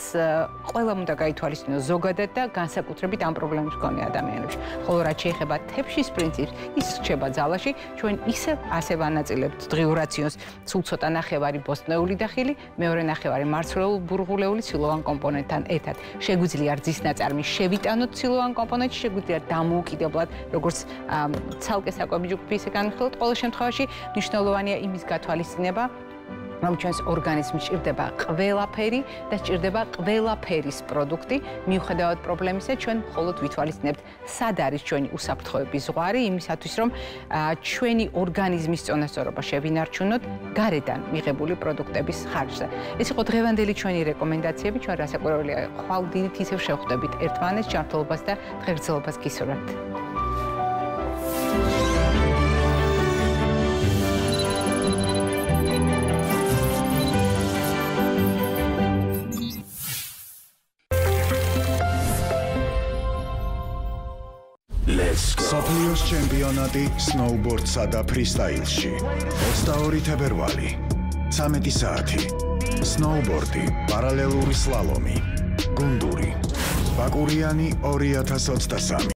ყველამ უნდა გაითვალისწინოს ზოგადად და განსაკუთრებით ამ პრობლემის მქონე ადამიანებში. ხოლო რაც შეეხება თებშის პრინციპს, ის რჩება ძალაში, ჩვენ ისე ასე ვანაწილებთ დღიურ რაციონს, სულ ცოტა ნახევარი ბოსტნეული და ხილი, მეორე ნახევარი მარცვლეულ-ბურღულეული ცილოვან კომპონენტთან ერთად. შეგვიძლია რძის ნაწარმი შევიტანოთ ცილოვან კომპონენტში, შეგვიძლია დამოუკიდებლად, როგორც ცალკე საკვები ჯგუფი ისე განვიხილოთ, ყოველ შემთხვევაში მნიშვნელოვანია იმის გათვალისწინება, რომ ჩვენს ორგანიზმში ჭირდება ყველაფერი და ჭირდება ყველაფერის პროდუქტი, მიუხედავად პრობლემისა, ჩვენ მხოლოდ ვითვალისწინებთ, სად არის ჩვენი უსაფრთხოების ზღვარი, იმისათვის, რომ ჩვენი ორგანიზმის წონასწორობა შევინარჩუნოთ გარედან მიღებული პროდუქტების ხარჯზე. ეს იყო დღევანდელი ჩვენი რეკომენდაციები, ჩვენ რასაკვირველია, ხვალდით ისევ შევხვდებით ერთმანეთს, ჯანმრთელობას და ღერძელობას გისურვებთ. სოფლიოს ჩემპიონატი სნოუბორდსა და ფრისტაილში 22 თებერვალი 13 საათი სნოუბორდი, პარალელური სლალომი, გუნდური, ბაკურიანი 2023